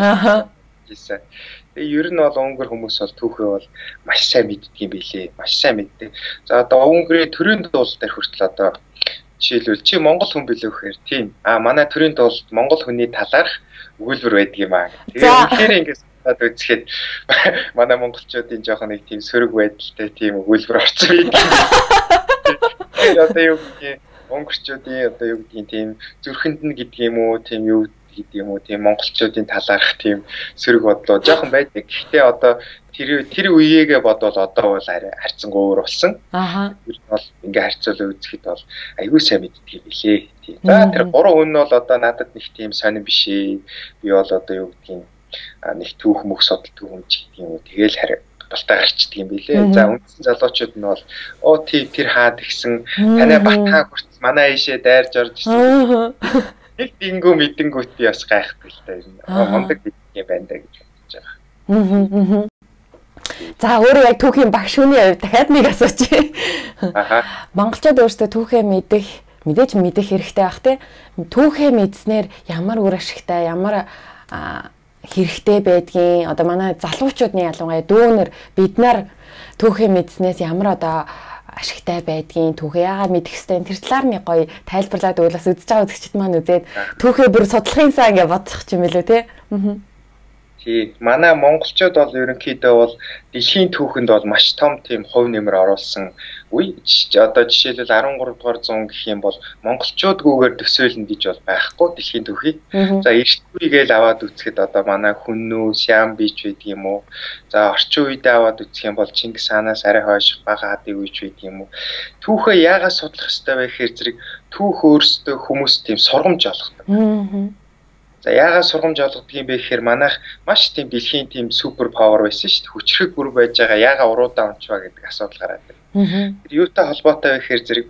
бодсон. Тэгээ ер нь бол Унгар хүмүүс бол түүхээ бол маш сайн мэддэг юм билээ. Маш сайн мэддэг. За одоо Унгарын төрийн дуул дээр хүртэл одоо жишээлбэл чи Монгол хүн билүү гэхээр тийм. А манай төрийн дуулд Монгол хүний талаарх өгүүлбэр байдаг юм аа. Тэгээ үнэхээр ингэж бодоод үзэхэд манай монголчуудын жоохон нэг тийм сөрөг байдалтай тийм өгүүлбэр орсон байдаг. Тэгээ одоо юу гэх юм Унгарчуудын одоо юу гэдгийг тийм зүрхэнд нь гэдэг юм уу тийм юу гэдэг юм уу тийм монголчуудын талаарх тийм сөрөг бодлоо жоохон байдаг. Гэхдээ одоо тэр тэр үеэгээ бодвол одоо бол харьцангуй өөр болсон. Аха. Тэр бол ингээ харьцуулаа үзэхэд бол аюул сайн мэддэг юм билээ. Тийм. За тэр гурван хүн нь бол одоо надад нэг тийм сонирн биш ээ. Би бол одоо юу гэдгийг нэг түүх мөх судал түүх юм ч гэдэг юм уу. Тэгээл харь болтой гарчдаг юм билээ. За үндсэн залуучууд нь бол оо тий тэр хаад гисэн танай бат хаа хүрц манай ийшээ дайрж орж ирсэн. Нэг дингүү мэдэнгүүт би бас гайхдаг л та юм. Мондөг гэдэг юм байна да гэж бодож байгаа. За өөрөө яг түүхийн багш хүний хувьд дахиад нэг асуучих. Аха. Монголчууд өөрсдөө түүхээ мэдэх, мэдээж мэдэх хэрэгтэй байх тий. Түүхээ мэдснээр ямар үр ашигтай, ямар хэрэгтэй байдгийг одоо манай залуучуудын ялангуяа дүүнер бид нар түүхээ мэдснээс ямар одоо ашигтай байдгийг түүхээ яагаад мэдэх хэвтэй тэр талаар нэг гоё тайлбарлаад өгвөл бас үзэж байгаа үзэгчд маань үзээд түүхээ бүр судлахын сан гэж бодчих юм билүү тий. Аа. Тий, манай монголчууд бол ерөнхийдөө бол дэлхийн түүхэнд бол маш том тийм хувь нэмэр оруулсан үе. Одоо жишээлбэл арван гурав дугаар зуун гэх юм бол монголчуудгүйгээр төсөөлнө гэж бол байхгүй дэлхийн түүхийг. За эрт үегээл аваад үзэхэд одоо манай Хүннүү, Сиам бич байдаг юм уу? За орчин үедээ аваад үзэх юм бол Чингис хаанаас арай хойш бага хаадын үеч байдаг юм уу? Түүхээ яагаад судлах ёстой вэ гэхээр зэрэг түүх өөрсдөө хүмүүс тийм сургамж олгодог. Аа. За яагаад сургамж олгодог юм бэ гэхээр манайх маш тийм дэлхийн тийм супер павер байсан шүү дээ. Хүчрэг бүр байж байгаа яагаад уруудаа унчваа гэдэг асуудал гараад байна. Тэр юутай холбоотой вэ гэхээр зэрэг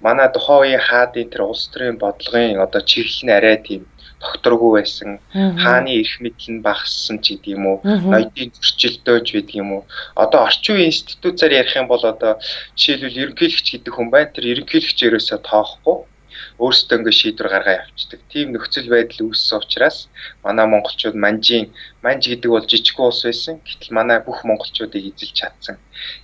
манай тухайн үеийн хаадын тэр улс төрийн бодлогын одоо чиглэл нь арай тийм докторгүй байсан. Хааны эрх мэдэл нь багассан ч гэдэг юм уу. Ноёдын зөрчилдөөж байдаг юм уу. Одоо орчин үеийн институтаар ярих юм бол одоо жишээлбэл ерөнхийлөгч гэдэг хүн байна. Тэр ерөнхийлөгч ерөөсөө тоохгүй өөрсдөө ингэ шийдвэр гаргаа явуулдаг. Тийм нөхцөл байдал үүссэн учраас манай монголчууд манжийн манж гэдэг бол жижигхэн улс байсан. Гэтэл манай бүх монголчуудыг эзэлж чадсан.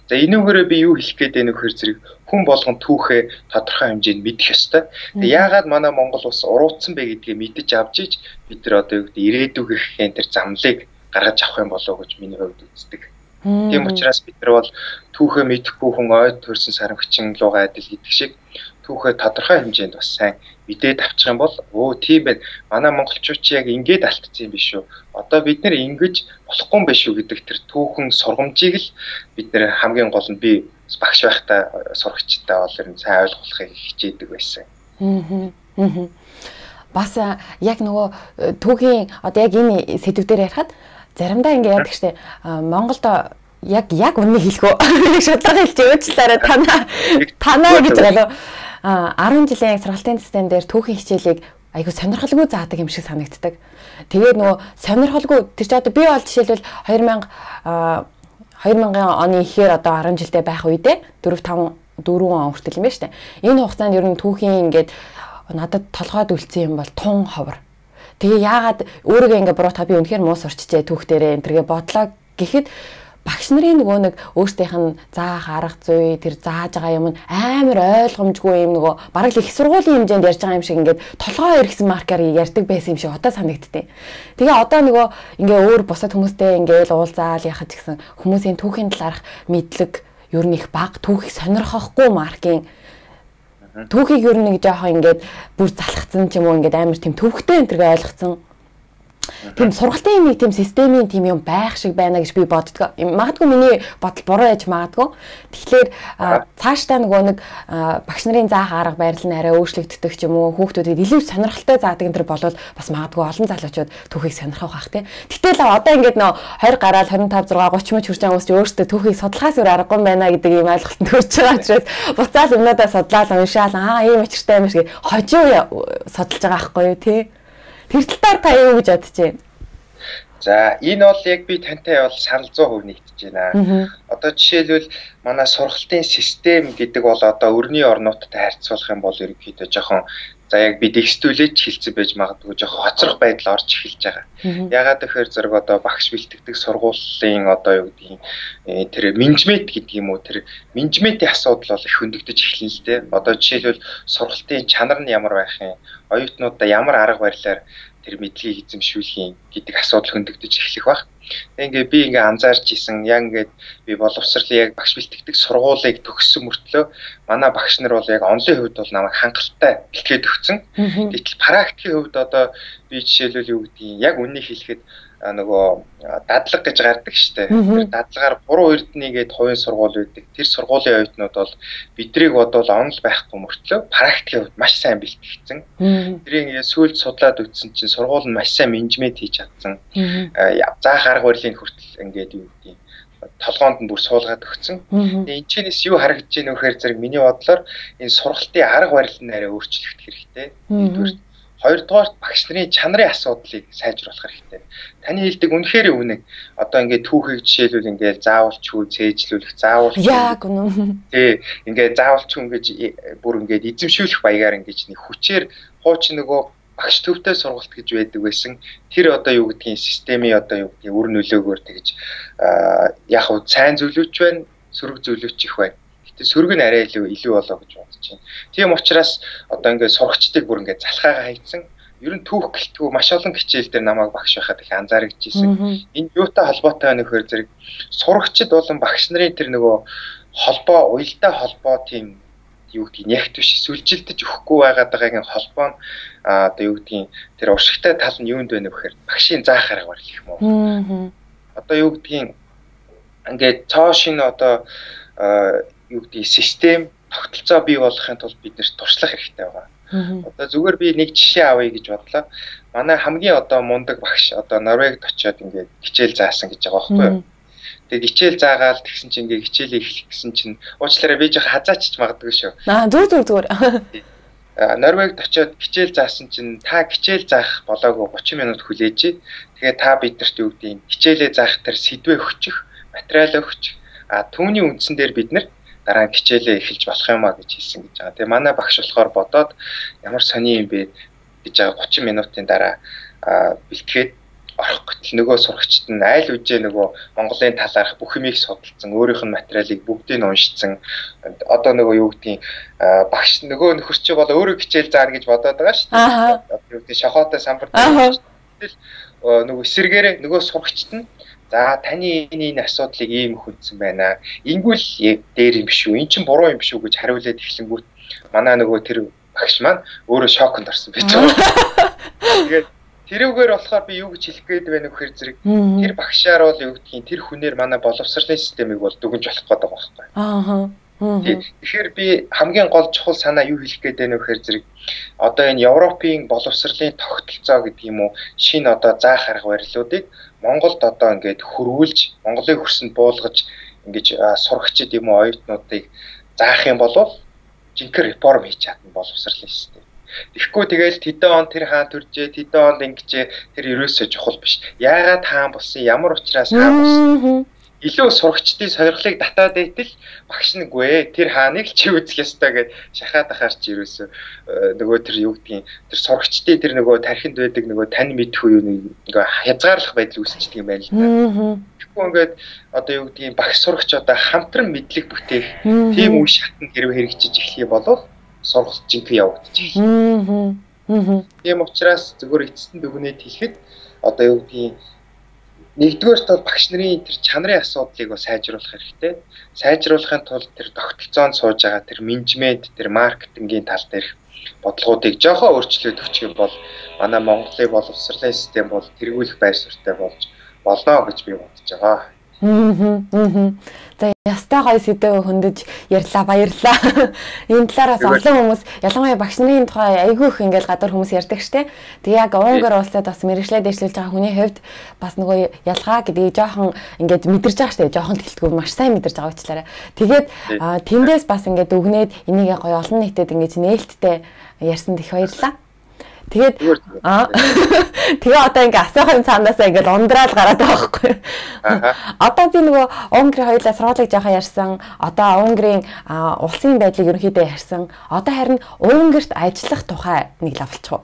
За энүүгээрээ би юу хэлэх гээд байна вэ гэхээр зэрэг хүн болгон түүхээ тодорхой хэмжээнд мэдэх ёстой. Тэгээ яагаад манай Монгол улс уруудсан бэ гэдгийг мэдэж авч иж бид нар одоо юу гэдэг ирээдүгийнхэн тэр замлыг гаргаж авах юм болов уу гэж миний хувьд үздэг. Тийм учраас бид нар бол түүхээ мэдэхгүй хүн ойд төрсэн сарамгчин луга адил гэдэг шиг түүхээ тодорхой хэмжээнд бас сайн мэдээд авчих юм бол өө тийм байна. Манай монголчууд ч яг ингэж алдсан юм биш үү? Одоо бид нэр ингэж болохгүй юм биш үү гэдэг тэр түүхэн сургамжийг л бид нэр хамгийн гол нь би багш байхдаа сурагчтай бол ер нь сайн ойлгуулахыг хичээдэг байсан. Аа. Бас яг нөгөө түүхийн одоо яг энэ сэдвээр ярихад заримдаа ингэ яадаг штэ Монголд яг яг үннийг хэлэх үү? Шудлага хэлж өөчлөөрэ танаа танаа гэж байгаа. А арван жилийн сургалтын систем дээр түүхийн хичээлийг айгу сонирхолгүй заадаг юм шиг санагддаг. Тэгээд нөгөө сонирхолгүй тэр чи одоо би бол жишээлбэл хоёр мянган оны ихээр одоо арван жилдээ байх үедээ дөрөв таван дөрвөн он хүртэл юм байна штэ. Энэ хугацаанд ер нь түүхийн ингээд надад толгойд үлдсэн юм бол тун ховор. Тэгээ яагаад өөрийгөө ингээд буруу та би үнэхээр муу сурчжээ түүх дээрээ энэ төргээ бодлоо гэхэд багш нарын нөгөө нэг өөрсдийнх нь заах арга зүй тэр зааж байгаа юм амар ойлгомжгүй юм нөгөө бараг л их сургуулийн хэмжээнд ярьж байгаа юм шиг ингээд толгой эргэсэн маркаар ярьдаг байсан юм шиг одоо санагдтыг. Тэгээ одоо нөгөө ингээ өөр бусад хүмүүстэй ингээл уулзаал яхаж гисэн хүмүүсийн түүхийн талаарх мэдлэг ер нь их бага, түүхийг сонирхохгүй маркийн түүхийг ер нь нэг жоохон ингээд бүр залхацсан ч юм уу ингээд амар тийм төвхтэй энэ төргээ ойлгоцсон. Тийм сургалтын нэг тийм системийн тийм юм байх шиг байна гэж би боддог. Магадгүй миний бодол буруу яж магадгүй. Тэгэхээр цаашдаа нөгөө нэг багш нарын заах арга барил нь арай өөрчлөгддөг ч юм уу хүүхдүүдэд илүү сонирхолтой заадаг энэ төр болвол бас магадгүй олон залуучууд түүхийг сонирхох бах тий. Гэтэл одоо ингээд нөө двадцать гараад двадцать пять зургаа тридцать мөч хүрч байгаа хүмүүс ч өөрсдөө түүхийг судлахаас өөр аргагүй юм байна гэдэг ийм ойлголтод хүрч байгаа учраас буцаал юмнуудаа судлаад уншаал аа ийм учиртай юм шиг хожуу судалж байгаа байхгүй юу тий. Тэр талаар та юу гэж бодож байна? За энэ бол яг би тантай бол санал зуун хувь нэгдэж байна. Одоо жишээлбэл манай сургалтын систем гэдэг бол одоо өрний орнуудтай харьцуулах юм бол ерөнхийдөө жоохон за яг би дэгстүүлээч хэлцэн байж магадгүй жоохон хоцрох байдал орж эхэлж байгаа. Ягаад гэхээр зэрэг одоо багш бэлтгэдэг сургуулийн одоо юу гэдгийг тэр менежмент гэдэг юм уу тэр менежментийн асуудал бол их хөндөгдөж эхэлнэ л дээ. Одоо жишээлбэл сургалтын чанар нь ямар байх юм, оюутнуудаа ямар арга барилаар тэр мэдлэгийг эзэмшүүлэх юм гэдэг асуудал хөндөгдөж эхлэх баг. Тэгээ ингээ би ингээ анзаарч исэн яг ингээд би боловсролын яг багш бэлтгэдэг сургуулийг төгссөн мөртлөө манай багш нар бол яг онлын хувьд бол намайг хангалттай бэлтгээд өгсөн. Гэтэл практикийн хувьд одоо би жишээлбэл юу гэдгийг яг үннийг хэлэхэд нөгөө дадлаг гэж гардаг штэ. Тэр дадлагаар гурван эрдэнийгээд хувийн сургууль үүдэг. Тэр сургуулийн оюутнууд бол бидрийг бодвол онл байхгүй мөртлөө практикийн хувьд маш сайн бэлтгэгдсэн. Тэрийг ингээ сүйд судлаад үзсэн чинь сургууль нь маш сайн менежмент хийж чадсан. Заах арга барилын хүртэл ингээд юу гэдгийг толгоонд нь бүр суулгаад өгсөн. Тэгээ энэ чэнэс юу харагдаж байна вэ гэхээр зэрэг миний бодлоор энэ сургалтын арга барил нь арай өөрчлөгдөх хэрэгтэй. Нэгдүгээр хоёрдугаар багш нарын чанарын асуудлыг сайжруулах хэрэгтэй. Таны хэлдэг үнэхээр үнэг. Одоо ингээд түүхийг жишээлбэл ингээд заавалчгүй цээжлүүлэх, заавал яг үнэн. Тий, ингээд заавалчгүй ингээд бүр ингээд эзэмшүүлэх баягаар ингээд нэг хүчээр хуучин нөгөө багш төвтэй сургалт гэж байдаг байсан. Тэр одоо юу гэдгийг системийн одоо юу гэдгийг үр нөлөөгөөр тэгж яг хөө сайн зөвлөж байна, сөрөг зөвлөж их байна. Гэтэ сөрөг нь арай илүү илүү болоо гэж бодож байна. Тийм учраас одоо ингээд сурагчдыг бүр ингээд залхаагаа хайцсан. Ер нь түүх гэлтгүү маш олон хичээл дээр намайг багш байхад их анзаарчихжсэн. Энэ юутай холбоотой байна вэхээр зэрэг сурагчид болон багш нарын тэр нөгөө холбоо, уялдаа холбоо тийм юу гэдгийг нягт биш сүлжилдэж өгөхгүй байгаад байгаагийн холбоо нь одоо юу гэдгийг тэр уршигтай тал нь юунд байна вэ гэхээр багшийн заах арга барил гэх юм уу. Одоо юу гэдгийг ингээд цоошин одоо юу гэдгийг систем тогтолцоо бий болгохын тулд бид нэрт туршлах хэрэгтэй байгаа. Одоо зүгээр би нэг жишээ авъя гэж бодлоо. Манай хамгийн одоо мундаг багш одоо Норвегид очиод ингээд хичээл заасан гэж байгаа байхгүй юу? Тэгээд хичээл заагаал тэгсэн чинь ингээд хичээлээ эхлэх гэсэн чинь уучлаарай би жоо хазаачч магадгүй шүү. Аа зүг зүг зүгээр. Норвегид очиод хичээл заасан чинь та хичээл заах болоогүй thirty минут хүлээж. Тэгээд та биднэрт юу гэдгийг хичээлээ заах тэр сэдвээ өгчих, материал өгчих. А түүний үндсэн дээр бид нар дараа нь хичээлээ эхэлж болох юм а гэж хэлсэн гэж байгаа. Тэгээ манай багш болохоор бодоод ямар сони юм бэ гэж байгаа thirty минутын дараа бэлтгээд орох гэтэл нөгөө сурагчид нь айл үжээ нөгөө Монголын талаарх бүх юмыг судалсан, өөрийнх нь материалыг бүгдийг нь уншицсан. Одоо нөгөө юу гэдгийг багш нөгөө нөхөрч бол өөрөө хичээл заана гэж бодоод байгаа шүү дээ. Юу гэдэг шохоотой самбар дээр нөгөө эсэргээрээ нөгөө сурагчид нь за таны энэ асуудлыг ийм хүндсэн байна. Ингүүл дээр юм биш үү? Эн чинь буруу юм биш үү гэж хариулаад эхлэнгүүт манай нөгөө тэр багш маань өөрөө шоконд орсон байж байгаа. Тэгээд тэрүүгээр болохоор би юу гэж хэлэх гээд байна вэ гэхээр зэрэг тэр багшаар бол юу гэдгийг тэр хүнээр манай боловсролын системийг бол дүгнж болох гэдэг байгаа байхгүй. Аа. Тэгэхээр би хамгийн гол чухал санаа юу хэлэх гээд байна вэ гэхээр зэрэг одоо энэ Европын боловсролын тогтолцоо гэдэг юм уу шинэ одоо заах арга барилуудыг Монголд одоо ингээд хөрвүүлж Монголын хөрсөнд буулгаж ингэж сурагчид юм уу оюутнуудыг заах юм бол жинхэнэ реформ хийж чадна боловсролын систем. Тэгэхгүй тэгэл тэдэн он тэр хаан төржээ, тэдэн онд ингэжээ тэр ерөөсөө чухал биш. Яагаад хаан болсон, ямар учраас хаан болсон. илүү сурагчдын сонирхлыг татаад байтал багш нэггүй тэр хааныг л чи үзэх ёстой гэж шахаад ахаар чи ерөөсөө нөгөө тэр юу гэдгийг тэр сурагчдын тэр нөгөө тархинд байдаг нөгөө тань мэдхгүй юу ингээ хязгаарлах байдал үүсчихдээ юм байна л да. Тэгэхгүй ингээд одоо юу гэдгийг багш сурагч одоо хамтран мэдлэг бүтээх тийм үе шатнд хэрвээ хэрэгжиж эхлэх юм бол сургалт жинхэнэ явагдчих. Тийм учраас зөвхөн эцэст нь дүгнээд хэлэхэд одоо юу гэдгийг нэгдүгээр тал багш нарын тэр чанарын асуудлыг бас сайжруулах хэрэгтэй. Сайжруулахын тулд тэр тогтолцоонд сууж байгаа тэр менежмент, тэр маркетингийн тал дээрх бодлогоодыг жоохон өөрчлөөд өгчих юм бол манай Монголын боловсролын систем бол тэргүүлэх байр суурьтай болж болно гэж би бодож байгаа. Аа. За ястай гоё сэдв хөндөж ярьлаа баярлаа. Энэ талаараас олон хүмүүс ялангуяа багш нарын тухай айгүй их ингээл гадар хүмүүс ярьдаг штэ. Тэг яг Унгар улсад бас мэрэгчлээ дэвшлүүлж байгаа хүний хувьд бас нөгөө ялгаа гэдгийг жоохон ингээд мэдэрч байгаа штэ. Жоохон тэлтгүү маш сайн мэдэрч байгаа учраас. Тэгээд тэндээс бас ингээд өгнээд энийг гоё олон нийтэд ингээд нээлттэй ярьсан их баярлаа. Тэгээд аа тэгээ одоо ингээ асуух цаанаасаа ингээ ундраад гараад байгаа байхгүй. Одоо би нөгөө Унгарын хоёулаа сургуулийг жоохон ярьсан. Одоо Унгарын улсын байдлыг ерөнхийдөө ярьсан. Одоо харин Унгарт ажиллах тухай нэг лавлчих.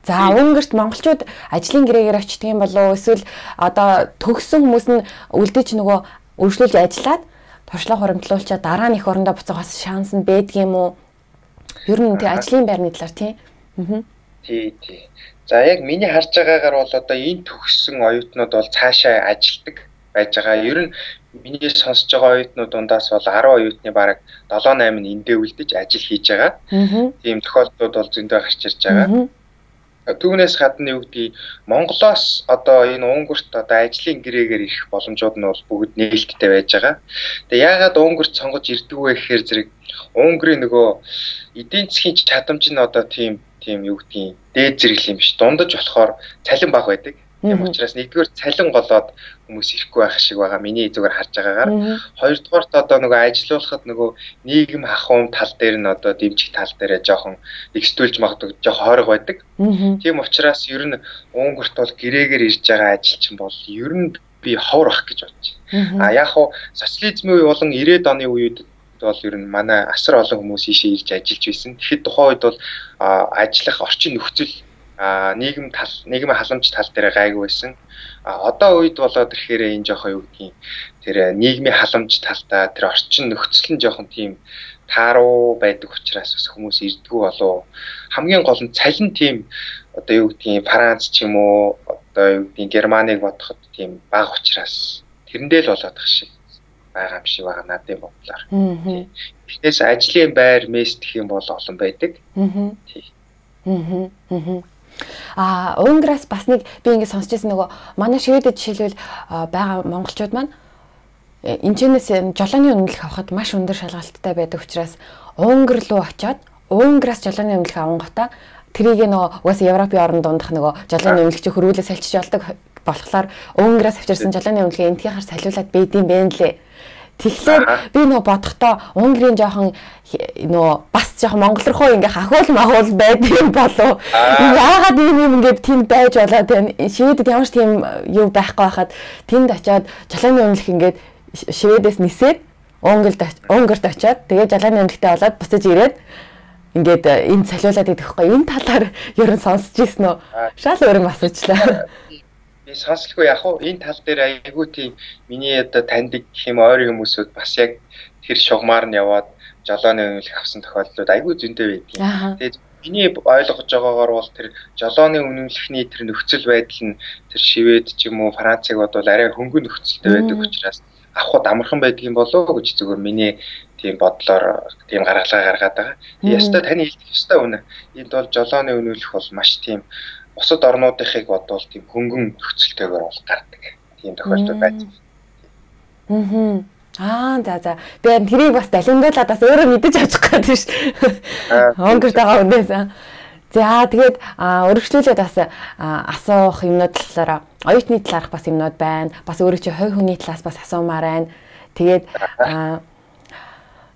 За Унгарт монголчууд ажлын гэрээгээр очдөг юм болов уу? Эсвэл одоо төгссөн хүмүүс нь үлдэж нөгөө өргөжлүүлж ажиллаад туршлага хуримтлуулчаад дараа нь их орондоо буцаагаас шанс нь байдаг юм уу? Ер нь тэг ажлын байрны талаар тийм. Аа. Тий, тий. За яг миний харж байгаагаар бол одоо энэ төгссөн оюутнууд бол цаашаа ажилдаг байж байгаа. Ер нь миний сонсож байгаа оюутнууд дундаас бол арван оюутны бараг долоо найман эндээ үлдэж ажил хийж байгаа. Тийм тохиолдлууд бол зөндөө гарч ирж байгаа. Түүнээс гадна юу гэдгийг Монголоос одоо энэ Унгарт одоо ажлын гэрээгээр ирэх боломжууд нь бол бүгд нээлттэй байж байгаа. Тэгээ яагаад Унгарт сонгож ирдэг вэ гэхээр зэрэг Унгарын нөгөө эдийн засгийн чадамж нь одоо тийм тийм юу гэдгийг дээд зэрэг юм биш. Дундаж болохоор цалин бага байдаг. Тийм учраас нэгдүгээр цалин голоод хүмүүс ирэхгүй байх шиг байгаа. Миний зүгээр харж байгаагаар. Хоёрдугаарт одоо нөгөө ажилуулахад нөгөө нийгэм ахуйн тал дээр нь одоо дэмжих тал дээрээ жоохон экстүүлж магадгүй жоохон хойрог байдаг. Тийм учраас ер нь Унгарт бол гэрээгээр ирж байгаа ажилчин бол ер нь би ховор ах гэж бодож байна. А яг хуу социализмын үе болон ирээдүйн оны үед бол ер нь манай асар олон хүмүүс ийшээ ирж ажиллаж байсан. Тэгэхэд тухайн үед бол ажиллах орчин нөхцөл нийгэм тал нийгмийн халамж тал дээр гайгүй байсан. Одоо үед болоод ирэхээр энэ жоохон юу гэдгийг тэр нийгмийн халамж талдаа тэр орчин нөхцөл нь жоохон тийм тааруу байдаг учраас бас хүмүүс ирдгүү болов. Хамгийн гол нь цалин тийм одоо юу гэдгийг Франц ч юм уу одоо юу гэдгийг Германыг бодоход тийм бага учраас тэрэндээ л болоод тах шиг байгаа юм шиг байгаа надад бодлоор. Тэгээс ажлын байр мест гэх юм бол олон байдаг. Аа. Аа, Унгараас бас нэг би ингэ сонсч байсан нөгөө манай шивэдэд жишээлбэл байгаа монголчууд маань энэчнээс жолооны үнэлэх авахд маш өндөр шалгалттай байдаг учраас Унгар руу очиод Унгараас жолооны үнэлэх авангуудаа тэрийг нөгөө угаасаа Европын орнд дундах нөгөө жолооны үнэлэгч хөрвүүлээ салчиж болдог болохоор Унгараас авчирсан жолооны үнэлгээ энтхийхаар салиулаад бийдэм бэ нэлээ. Тэгэхээр би нөө бодохдоо Унгарын жоохон нөө бас жоохон Монгол руу ингээ хахуул махуул байдгийн болов. Яагаад ийм юм ингээд тэнд байж болоод байна. Шивэдэд ямар ч тийм юу байхгүй байхад тэнд очиод жолооны үнэлэх ингээд шивэдээс нисээд Унгарт Унгарт очиод тэгээ жолооны үнэлэхтэй болоод буцаж ирээд ингээд энд салиулаад идэх байхгүй. Энэ талаар ер нь сонсч ирсэн үү? Шал өөр юм асуучлаа. Сонсолгүй яг уу энэ тал дээр айгүй тийм миний одоо таньдаг гэх юм ойрын хүмүүсүүд бас яг тэр шугамар нь яваад жолооны үнэлэх авсан тохиолдлууд айгүй зөндөө байдаг. Тэгээд миний ойлгож байгаагаар бол тэр жолооны үнэлэхний тэр нөхцөл байдал нь тэр шивэд ч юм уу Францыг бодвол арай хөнгөн нөхцөлтэй байдаг учраас авахд амархан байдаг юм болоо гэж зөвхөн миний тийм бодлоор тийм гаргалгаа гаргаад байгаа. Ястаа таны хэлдэг ёстой үнэ. Энд бол жолооны үнэлэх бол маш тийм бусад орнуудынхыг бодвол тийм хөнгөн нөхцөлтэйгээр бол гардаг. Тийм тохиолдол байдаг. Аа. Аа за за. Би тэрийг бас далимдуулаад бас өөрөө мэдэж авчих гэдэг шүү. Унгарт байгаа хүнээс. За тэгээд өргөжлүүлээд бас асуух юмнууд талаараа оюутны талаарх бас юмнууд байна. Бас өөрөө чи хувь хүний талаас бас асуумаар байна. Тэгээд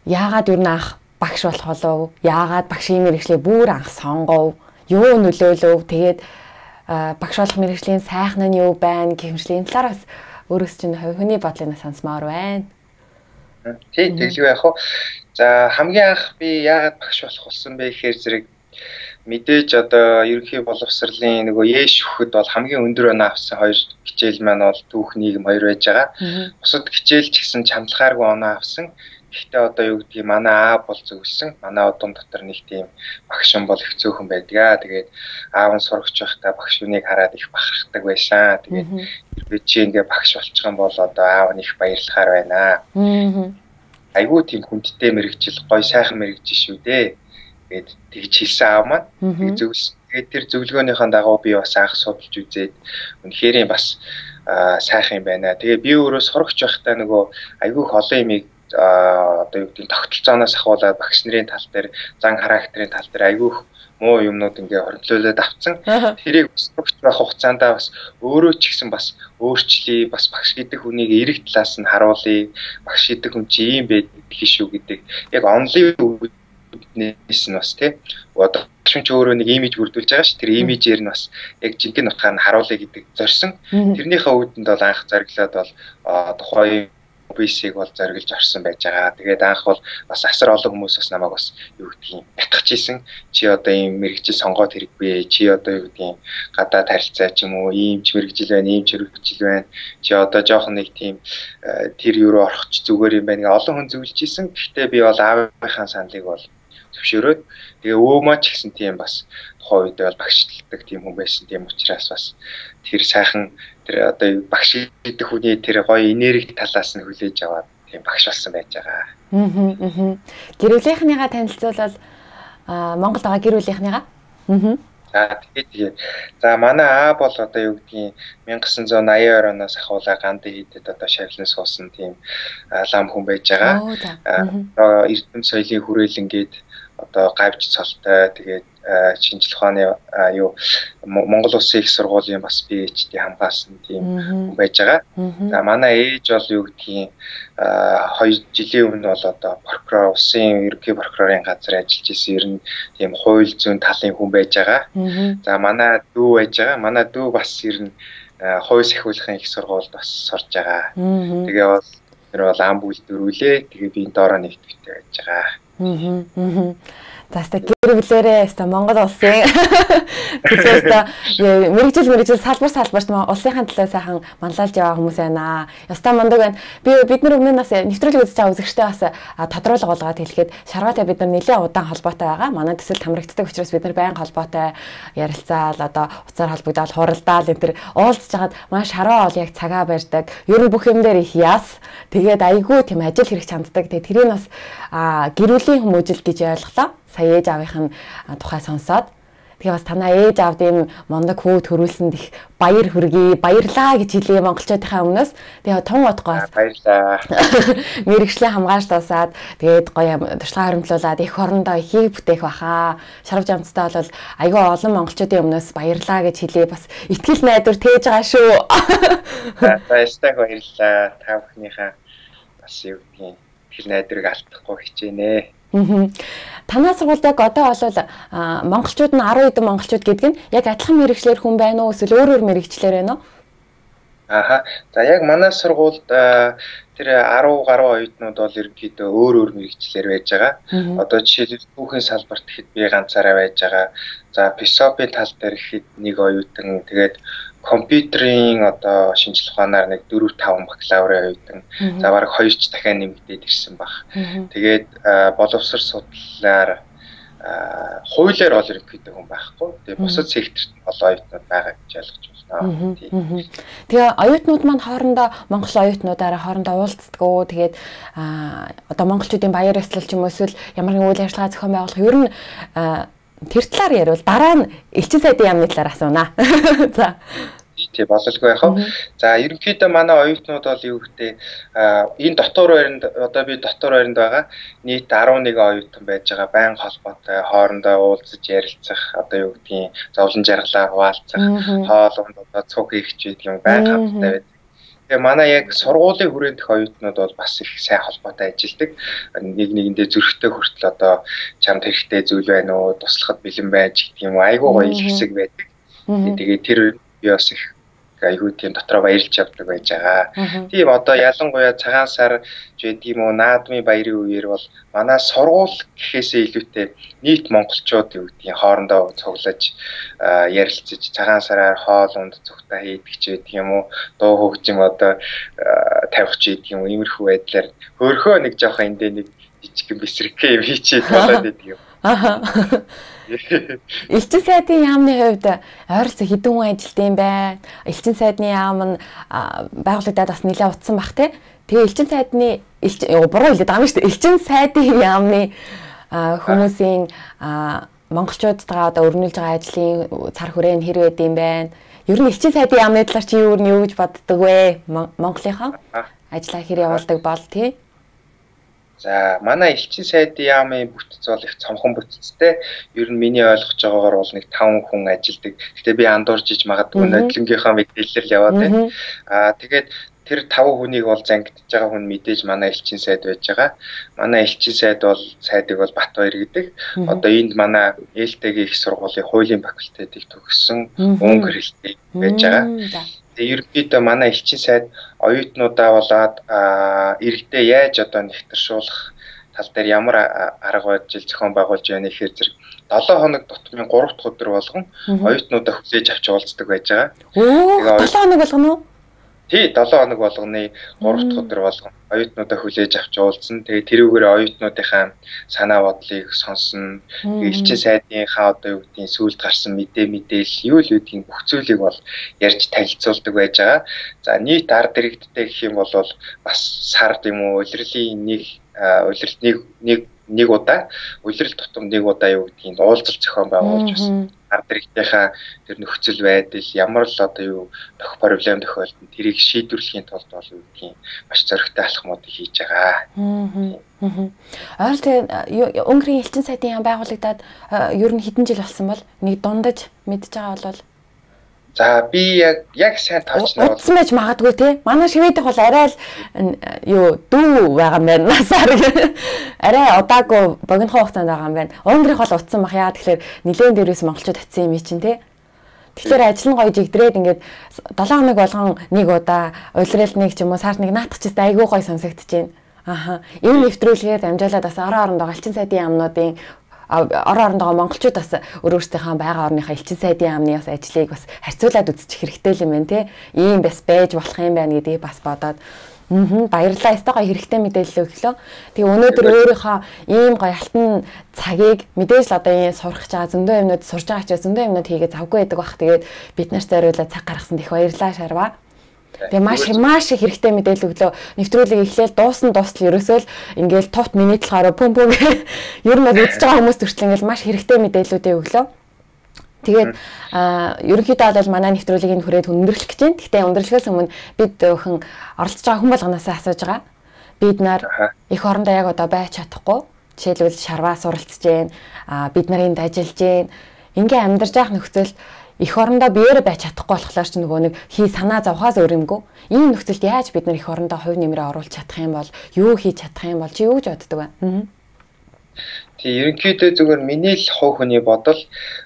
яагаад юу нах багш болох болов? Яагаад багшийн мэргэжлийг бүр анх сонгов? Юу нөлөөлөв? Тэгээд багш болох мэргэжлийн сайхан нь юу байна? Гэмшлийн талаар бас өөрөөс чинь хүний бодлыг сонсмоор байна. Тийм тэглэв яах вэ? За хамгийн анх би яагаад багш болох болсон бэ гэхээр зэрэг мэдээж одоо ерөнхий боловсролын нөгөө ээш хөхөд бол хамгийн өндөр оноо авсан хоёр хичээл маань бол түүх нийгэм хоёр байж байгаа. Бусад хичээл ч гэсэн чамдлахааргүй оноо авсан. Гэхдээ одоо юу гэдгийг манай аав бол зөвлөсөн. Манай удам дотор нэг тийм багш юм бол их цөөхөн байдгаа. Тэгээд аав нь сурагч байхдаа багш үнийг хараад их бахархдаг байсан. Тэгээд би чи ингээ багш болчих юм бол одоо аав нь их баярлахаар байна. Айгуу тийм хүндтэй мэрэгжил, гоё сайхан мэрэгжил шүү дээ. Тэгээд тэгж хэлсэн аав маань. Тэгээд зөвлөсөн. Тэгээд тэр зөвлөгөөнийхэн дагуу би бас анх судалж үзээд үнэхээр бас сайхан юм байна. Тэгээд би өөрөө сурагч байхдаа нөгөө айгуу их олон юмыг одоо юу гэдэг тогтолцооноос ахуулаад багш нарын тал дээр, зан характерын тал дээр айгүйх муу юмнууд ингээ хоригдлуулад авцсан. Тэрийг сурагч байх хугацаанд бас өөрөө ч гэсэн бас өөрчлөе, бас багш гэдэг хүнийг эрэг талаас нь харуулъя. Багш гэдэг хүн чи ийм байдаг шүү гэдэг. Яг онлын үүднээс нь бас тий. Одоо багш ч өөрөө нэг имиж бүрдүүлж байгаа ш. Тэр имижээр нь бас яг жинхэнэ утгаар нь харуулъя гэдэг зорьсон. Тэрнийхээ үүдэнд бол анх зориглоод бол тухайн бисийг бол зориглож орсон байж байгаа. Тэгээд анх бол бас асар олон хүмүүс бас намайг бас юу гэдгийг ятгах ийсэн. Чи одоо ийм мэрэгжил сонгоод хэрэггүй. Чи одоо юу гэдгийг гадаад харилцаа ч юм уу, ийм ч мэрэгжил байна, ийм ч мэрэгжил байна. Чи одоо жоохон нэг тийм тэр юу руу орохч зүгээр юм байна. Олон хүн зөвлөж ийсэн. Гэхдээ би бол аавынхаа саналыг бол зөвшөөрөөд тэгээ өвөө маа ч гэсэн тийм бас тухайн үед бол багшлдаг тийм хүн байсан. Тийм учраас бас тэр сайхан тэр одоо багш гэдэг хүний тэр гоё энерги талаас нь хүлээж аваад тийм багш болсон байж байгаа. Аа аа. Гэр бүлийнхнийгаа танилцуулбал Монголд байгаа гэр бүлийнхнийгаа. Аа. За тэгээд тэгээд за манай аа бол одоо юу гэдгийг 천ix eighty оноос ахуулаа Ганди хийдэд одоо шавлан суусан тийм лам хүн байж байгаа. Одоо эрдэм соёлын хүрээлэнгээд одоо гавж цолтой тэгээд шинжлэх ухааны юу Монгол Улсын их сургуулийн бас пи эйч ди хамгаалсан тийм хүн байж байгаа. За манай ээж бол юу гэдгийг хоёр жилийн өмнө бол одоо прокурор улсын ерөнхий прокурорын газар ажиллаж исэн ер нь тийм хууль зүйн талын хүн байж байгаа. За манай дүү байж байгаа. Манай дүү бас ер нь хууль сахиулахын их сургуульд бас сурж байгаа. Тэгээ бол тэр бол ам бүлдэрүүлээ. Тэгээ би энэ доороо нэгтгэвтэй байж байгаа. Аа. Таста гэр бүлээрээ өста Монгол улсын өста мэрэгжил мэрэгжил салбар салбарт улсынхаа төлөө сайхан манлайлж яваа хүмүүс байна. Яста мундаг байна. Би бид нар өмнө нас нэвтрүүлэг үзэж байгаа үзэгчтэй бас тодруулга болгоод хэлэхэд Шарваатай бид нар нэлээд удаан холбоотой байгаа. Манай төсөл хамрагддаг учраас бид нар байнга холбоотой ярилцаал одоо уцаар холбогдоод хуралдаал энэ төр уулзж хагаад манай Шарваа бол яг цагаа барьдаг. Ер нь бүх юм дээр их яс. Тэгээд айгүй тийм ажил хэрэг чамддаг. Тэгээд тэрийг бас гэр бүлийн хүмүүжил гэж ойлголоо. Сая ээж аавынх нь тухай сонсоод тэгээ бас танаа ээж аавд ийм мондог хүү төрүүлсэнд их баяр хүргэе, баярлаа гэж хэлээ монголчуудынхаа өмнөөс. Тэгээ тун утгаас баярлаа. Мэргэжлийн хамгаалж тусаад тэгээд гоё туршлага харимтлуулаад их орондоо ихийг бүтээх баха. Шарав жамцтай бол айгүй олон монголчуудын өмнөөс баярлаа гэж хэлээ. Бас итгэл найдвар тээж байгаа шүү. Баярлалаа баярлаа. Та бүхнийхээ бас юу гэдгийг итгэл найдварыг алдахгүй хичээнэ. Танаа сургуульд яг одоо бол монголчууд нь арван хэдэн монголчууд гэдэг нь яг адилхан мэрэгчлэр хүн байна уу эсвэл өөр өөр мэрэгчлэр байна уу? Ааха. За яг манай сургуульд тэр ten гаруй оюутнууд бол ерөнхийдөө өөр өөр мэрэгчлэр байж байгаа. Одоо жишээлбэл түүхийн салбарт ихэд би ганцаараа байж байгаа. За писопийн тал дээр ихэд нэг оюутан тэгээд компьютерийн одоо шинжлэх ухаанаар нэг four five бакалаврын оюутан. За бараг хоёр ч дахиад нэмэгдээд ирсэн баг. Тэгээд боловсрол судлалаар хуулиар бол ерөнхийдөө хүн байхгүй. Тэгээд бусад секторт бол оюутнууд байгаа гэж ойлгож байна. Тэгээ оюутнууд маань хоорондоо монгол оюутнуудаараа хоорондоо уулздаг уу? Тэгээд одоо монголчуудын баяр ёслол ч юм уу эсвэл ямар нэгэн үйл ажиллагаа зохион байгуулах ер нь тэр талаар ярил дараа нь элчин сайдын яамны талаар асуунаа. За. Тий бололгүй яах вэ? За ерөнхийдөө манай оюутнууд бол юу гэдэг энэ дотор байранд одоо би дотор байранд байгаа нийт eleven оюутан байж байгаа. Байнга холбоотой хоорондоо уулзаж ярилцах одоо юу гэдгийг зовлон жаргалаа хуваалцах хоолунд одоо цуг хийх ч гэдэг юм байнга хамттай байдаг. Тэгээ манай яг сургуулийн хүрээндх оюутнууд бол бас их сайн холбоотой ажилладаг. Нэг нэгэндээ зөрөгтэй хүртэл одоо чамд хэрэгтэй зүйл байна уу, туслахад бэлэн байж гэдэг юм айгуу гоё хэсэг байдаг. Тэгээ тэр би бас их айгүй тийм дотроо баярлж явдаг байж байгаа. Тийм одоо ялангуяа цагаан сар гэдэг юм уу наадмын баярын үеэр бол манай сургууль гэхээсээ илүүтэй нийт монголчууд юу гэдгийг хоорондоо цуглаж ярилцаж цагаан сараар хоол унд цугтаа хийдэг ч гэдэг юм уу дуу хөгжим одоо тавих ч гэдэг юм уу иймэрхүү байдлаар хөрхөө нэг жоохон эндээ нэг жижиг бисрэгхээ юм хийчихэд болоод идэг юм. Аха. Элчин сайдын яамны хувьд ойролцоо хэдэн хүн ажилтсан юм бэ? Элчин сайдны яам нь байгуулагдаад бас нэлээд утсан бах тий. Тэгээ элчин сайдны буруу хэлээд байгаа юм шүү дээ. Элчин сайдын яамны хүмүүсийн монголчуудтайгаа одоо өрнүүлж байгаа ажлын цар хүрээ нь хэр байд юм бэ? Ер нь элчин сайдын яамны талаар чи юу юу гэж боддог вэ? Монголынхаа ажлаа хэр явуулдаг бол тий. За манай элчин сайдын яамын бүтц бол их цомхон бүтцтэй. Ер нь миний ойлгож байгаагаар бол нэг таван хүн ажилладаг. Гэтэ би андуурж иж магадгүй нодлонгийнхаа мэдээлэл яваад байна. Аа тэгээд тэр таван хүнийг бол зангидж байгаа хүн мэдээж манай элчин сайд байж байгаа. Манай элчин сайд бол сайдыг бол Батбаяр гэдэг. Одоо энд манай ээлтэйгийн их сургуулийн хуулийн факультетыг төгссөн өнгө хэлтэй байж байгаа. Тэгээ ерөнхийдөө манай элчин сайд оюутнуудаа болоод иргэдээ яаж одоо нэгтэршүүлэх тал дээр ямар арга барил зохион байгуулж байна гэхээр зэрэг долоо хоног тутмын гурав дахь өдөр болгон оюутнуудаа хүлээж авч уулздаг байж байгаа. Оо долоо хоног болгоно уу? Тий, долоо хоног болгоны гурав дахь өдөр болгон оюутнуудаа хүлээж авч уулзсан. Тэгээ тэрүүгээр оюутнуудынхаа санаа бодлыг сонсно. Элчин сайдынхаа одоо юу гэдгийг сүүлд гарсан мэдээ мэдээлэл юу л үүдгийг бүх зүйлийг бол ярьж танилцуулдаг байж байгаа. За нийт ард иргэдтэй гэх юм бол бас сард юм уу улирлын нэг улиралд нэг нэг нэг удаа улирал тутам нэг удаа юу гэдгийг уулзалт зохион байгуулж бас ард иргэдийнхаа тэр нөхцөл байдал ямар л одоо юу тох проблем тохиолдсон тэрийг шийдвэрлэхийн тулд бол юу гэдгийг маш зоригтой алхмуудыг хийж байгаа. Аа. Ойролцоо Өнгөрийн элчин сайдын яам байгуулагдаад ер нь хэдэн жил болсон бол нэг дундаж мэдж байгаа бол за би яг яг сайн тоочно бол утсан байж магадгүй те. Манай шивэдэх бол арай л юу дүү байгаа юм байна. Насаар арай удаагүй богинохон хугацаанд байгаа юм байна. Өнгөрийнх бол утсан бах яа тэгэхээр нилээн дээрээс монголчууд татсан юм чинь те. Тэгэхээр ажил нь гоё жигдрээд ингээд долоо хоног болгон нэг удаа улирал нэг ч юм уу сард нэг наатах ч гэсэн айгүй гоё сонсогдож байна. Аха. Энэ нэвтрүүлгээр дамжуулаад бас орон орондоо элчин сайдын яамнуудын орон орондоо монголчууд бас өөрөөсдийнхөө байгаа орныхаа элчин сайдын яамны бас ажлыг бас харьцуулаад үзчих хэрэгтэй юм байна те. Ийм бас байж болох юм байна гэдгийг бас бодоод аа баярлалаа. Өстой гоё хэрэгтэй мэдээлэл өглөө. Тэгээ өнөөдөр өөрийнхөө ийм гоё алтан цагийг мэдээж л одоо ийм сурах чагаа зөндөө юмнууд сурж байгаа ч зөндөө юмнууд хийгээд завгүй байдаг бах. Тэгээд бид нарт зориулаад цаг гаргасан их баярлалаа Шарва. Тэгээ маш маш их хэрэгтэй мэдээлэл өглөө. Нэвтрүүлэг эхлээл дуусна дуустал ерөөсөө л ингээл товт минут болохоор пүм пүм ер нь үзэж байгаа хүмүүс төрчл ингээл маш хэрэгтэй мэдээллүүдээ өглөө. Тэгээд ерөнхийдөө бол манай нэвтрүүлгийг хүрээд өндөрлөх гэж байна. Гэхдээ өндөрлөхөөс өмнө бид өхөн оролцож байгаа хүн болгоноос асууж байгаа. Бид нар их орондоо яг одоо байж чадахгүй. Жишээлбэл Шарваа суралцж байна. Бид нар энд ажиллаж байна. Ингээ амьдарч байх нөхцөл их орондоо биеэрээ байж чадахгүй болохоор ч нөгөө нэг хий санаа зовхоос өөр юмгүй. Ийм нөхцөлд яаж бид нар их орондоо хувь нэмрээ оруулах чадах юм бол юу хийж чадах юм бол чи юу гэж боддог вэ? Тэг ерөнхийдөө зүгээр миний л хувь хүний бодол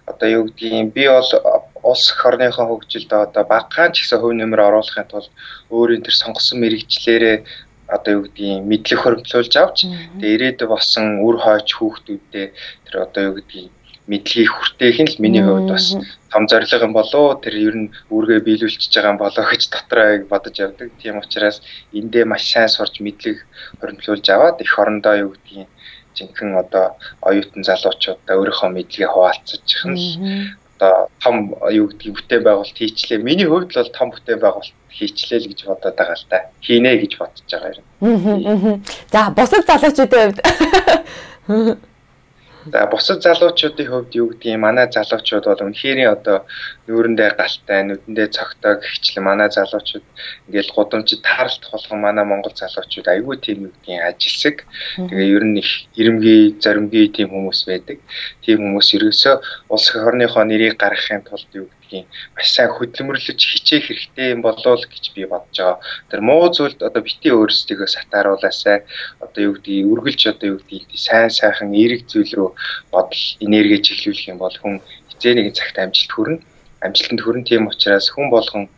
одоо юу гэдгийг би бол улс эх орныхоо хөгжилд одоо багахан ч гэсэн хувь нэмрээ оруулахын тулд өөрийн тэр сонгосон мэрэгчлэрээ одоо юу гэдгийг мэдлэг хөрвүүлж авч тэг ирээдүйд болсон үр хойч хүүхдүүдээ тэр одоо юу гэдгийг мэдлэгийг хүртээх нь л миний хувьд бас том зорилго юм болоо тэр ер нь үүргээ биелүүлчихэж байгаа юм болоо гэж дотроо бодож явдаг. Тийм учраас эндээ маш сайн сурч мэдлэг хөрвүүлж аваад их орондоо юу гэдгийг жинхэнэ одоо оюутан залуучуудаа өөрийнхөө мэдлэгээ хуваалцчих нь одоо том юу гэдгийг бүтээн байгуулалт хийчлээ. Миний хувьд бол том бүтээн байгуулалт хийчлээ л гэж бодоод байгаа л та. Хийнэ гэж бодож байгаа юм. За бусад залуучуудын хувьд за бусад залуучуудын хувьд юу гэдгийг манай залуучууд бол үнэхээр одоо нүүрэндээ галтай, нүдэндээ цогтой гихчлэн манай залуучууд ингээл гудамжид тааралдах болгон манай монгол залуучууд айгүй тийм юу гэдгийг ажилсаг. Тэгээ ер нь их ирэмгий, зоримгий тийм хүмүүс байдаг. Тийм хүмүүс ерөөсөө улс эх орныхоо нэрийг гаргахын тулд юу гэдгийг маш сайн хөдөлмөрлөж хичээх хэрэгтэй юм болоо л гэж би бодож байгаа. Тэр муу зүйлд одоо бити өөрсдийгөө сатааруулаасай одоо юу гэдгийг үргэлж одоо юу гэдгийг сайн сайхан эерэг зүйл рүү бодол энерги чиглүүлэх юм бол хүн хизээ нэгэн цагт амжилт хүрнэ. Амжилтанд хүрэн тийм учраас хүн болгон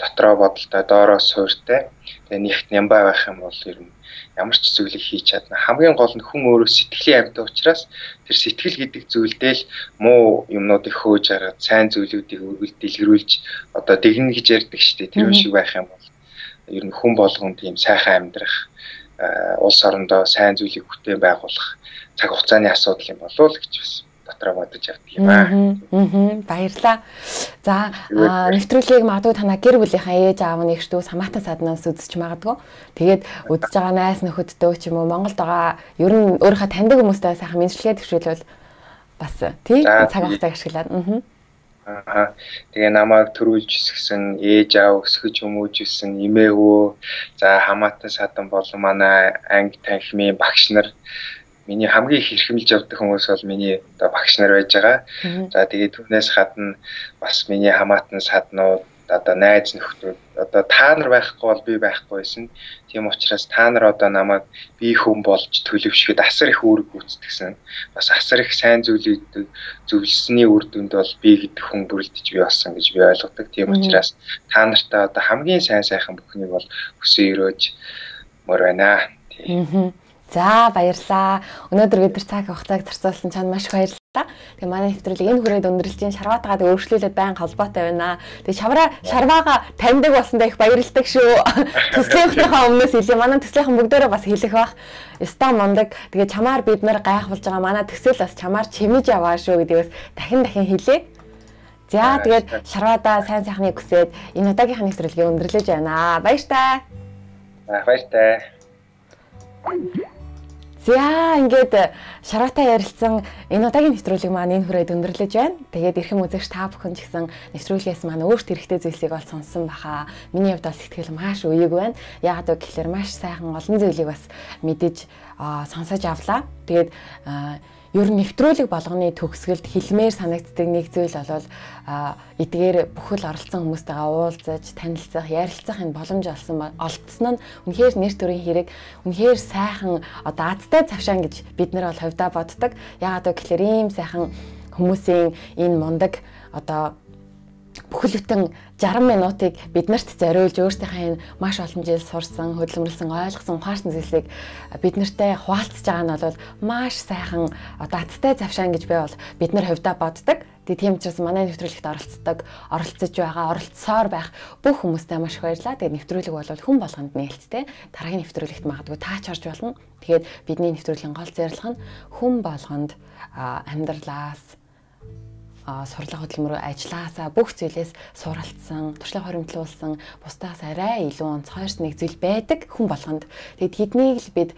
дотроо бодолтой, доороос суурьтай. Тэгээ нэгт нямбай байх юм бол ер нь ямар ч зүйлийг хийж чадна. Хамгийн гол нь хүн өөрөө сэтгэлийн амьтан учраас тэр сэтгэл гэдэг зүйлдээ л муу юмнуудыг хөөж араад сайн зүйлүүдийг үргэлж дэлгэрүүлж одоо дэгнэ гэж ярьдаг шүү дээ. Тэр шиг байх юм бол ер нь хүн болгонд тийм сайхан амьдрах, улс орондоо сайн зүйлийг бүтээн байгуулах цаг хугацааны асуудал юм болов уу гэж бас дотроо бодож явдаг юм аа. Аа. Баярлалаа. За нэвтрүүлгийг магадгүй танаа гэр бүлийнхаа ээж аав нэгш дүү самаатан саднаас үзэж магадгүй. Тэгээд үзэж байгаа найз нөхөддөө ч юм уу Монголд байгаа ер нь өөрийнхөө таньдаг хүмүүстэй сайхан мэдлэгээ төвшүүлвэл бас тий цаг хугацааг ашиглаад. Аа. Тэгээ намайг төрүүлж өсгсөн ээж аав өсгөж хүмүүжүүлсэн эмээ өвөө за хамаатан садан болон манай анги танхимын багш нар миний хамгийн их хэрхэмлж явдаг хүмүүс бол миний одоо багш нар байж байгаа. За тэгээд түүнээс гадна бас миний хамаатан саднууд одоо найз нөхдөд одоо та нар байхгүй бол би байхгүй байсан. Тийм учраас та нар одоо намайг би хүн болж төлөвшөхөд асар их үүрэг гүйцэтгсэн. Бас асар их сайн зүйлүүд зөвлөсний үр дүнд бол би гэдэг хүн бүрэлдэж бий болсон гэж би ойлгодог. Тийм учраас та нартай одоо хамгийн сайн сайхан бүхнийг бол хүсэн өрөөж мөр байна. Тийм. За баярлаа. Өнөөдөр бид нар цаг хугацааг зарцуулсан чанд маш их баярлалаа. Тэгээ манай нэвтрүүлэг энэ хүрээд өндөрлж чинь шарваатаагаад өөрчлөлөд байн холбоотой байна. Тэгээ шавраа шарваага таньдаг болсондоо их баярлалдаг шүү. Төслийнхнийхээ өмнөөс хэлээ. Манай төслийнхэн бүгдээрээ бас хэлэх бах. Яста мундаг. Тэгээ чамаар бид нар гайхуулж байгаа манай төсөл бас чамаар чимэж яваа шүү гэдгээс дахин дахин хэлээ. За тэгээд шарваадаа сайн сайхныг хүсээд энэ удаагийнхаа нэвтрүүлгийг өндөрлөж байна. Баяртай. Баяртай. За ингээд шараатай ярилцсан энэ удаагийн нэвтрүүлэг маань энэ хүрээд өндөрлөж байна. Тэгээд эрхэм үзэгч та бүхэн ч гэсэн нэвтрүүлгээс маань өөрт хэрэгтэй зүйлсийг ол сонсон баха. Миний хувьд бол сэтгэл маш үеиг байна. Яагаад вэ гэхээр маш сайхан олон зүйлийг бас мэдэж сонсож авлаа. Тэгээд ер нь нэвтрүүлэг болгоны төгсгөлд хэлмээр санагддаг нэг зүйл бол эдгээр бүхэл оролцсон хүмүүстэйгээ уулзаж, танилцах, ярилцах энэ боломж олсон олдсон нь үнэхээр нэр төрийн хэрэг, үнэхээр сайхан одоо азтай цавшаан гэж бид нар бол хувьдаа боддог. Яагаад вэ гэхээр ийм сайхан хүмүүсийн энэ мундаг одоо бүхэл бүтэн жарган минутыг биднэрт зориулж өөрсдийнхээ энэ маш олон жил сурсан, хөдөлмөрлсөн, ойлгосон, ухаарсан зүйлсийг биднэртэй хуваалцаж байгаа нь бол маш сайхан одоо азтай завшаан гэж би бол бид нар хувьдаа боддог. Тэгээ тийм учраас манай нэвтрүүлэгт оролцдог, оролцож байгаа, оролцсоор байх бүх хүмүүстээ маш их баярлалаа. Тэгээ нэвтрүүлэг бол хүн болгонд нээлттэй. Дараагийн нэвтрүүлэгт магадгүй таач орж болно. Тэгээд бидний нэвтрүүлгийн гол зорилго нь хүн болгонд амьдралаас сурлага хөдөлмөр ажиллагаасаа бүх зүйлээс суралцсан, туршлага хоримтлуулсан, бусдаас арай илүү онцгойрсон нэг зүйл байдаг хүн болгонд. Тэгээд тэднийг л бид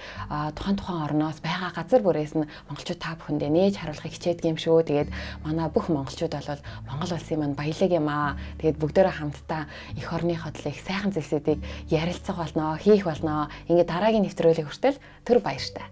тухайн тухайн орноос байгаа газар бүрээс нь монголчууд та бүхэндээ нээж харуулахыг хичээдэг юм шүү. Тэгээд манай бүх монголчууд бол Монгол улсын маань баялаг юм аа. Тэгээд бүгдээрээ хамтдаа эх орныхоо төлөө их сайхан зүйлсүүдийг ярилцах болно, хийх болно. Ингээд дараагийн нэвтрүүлэг хүртэл түр баяртай.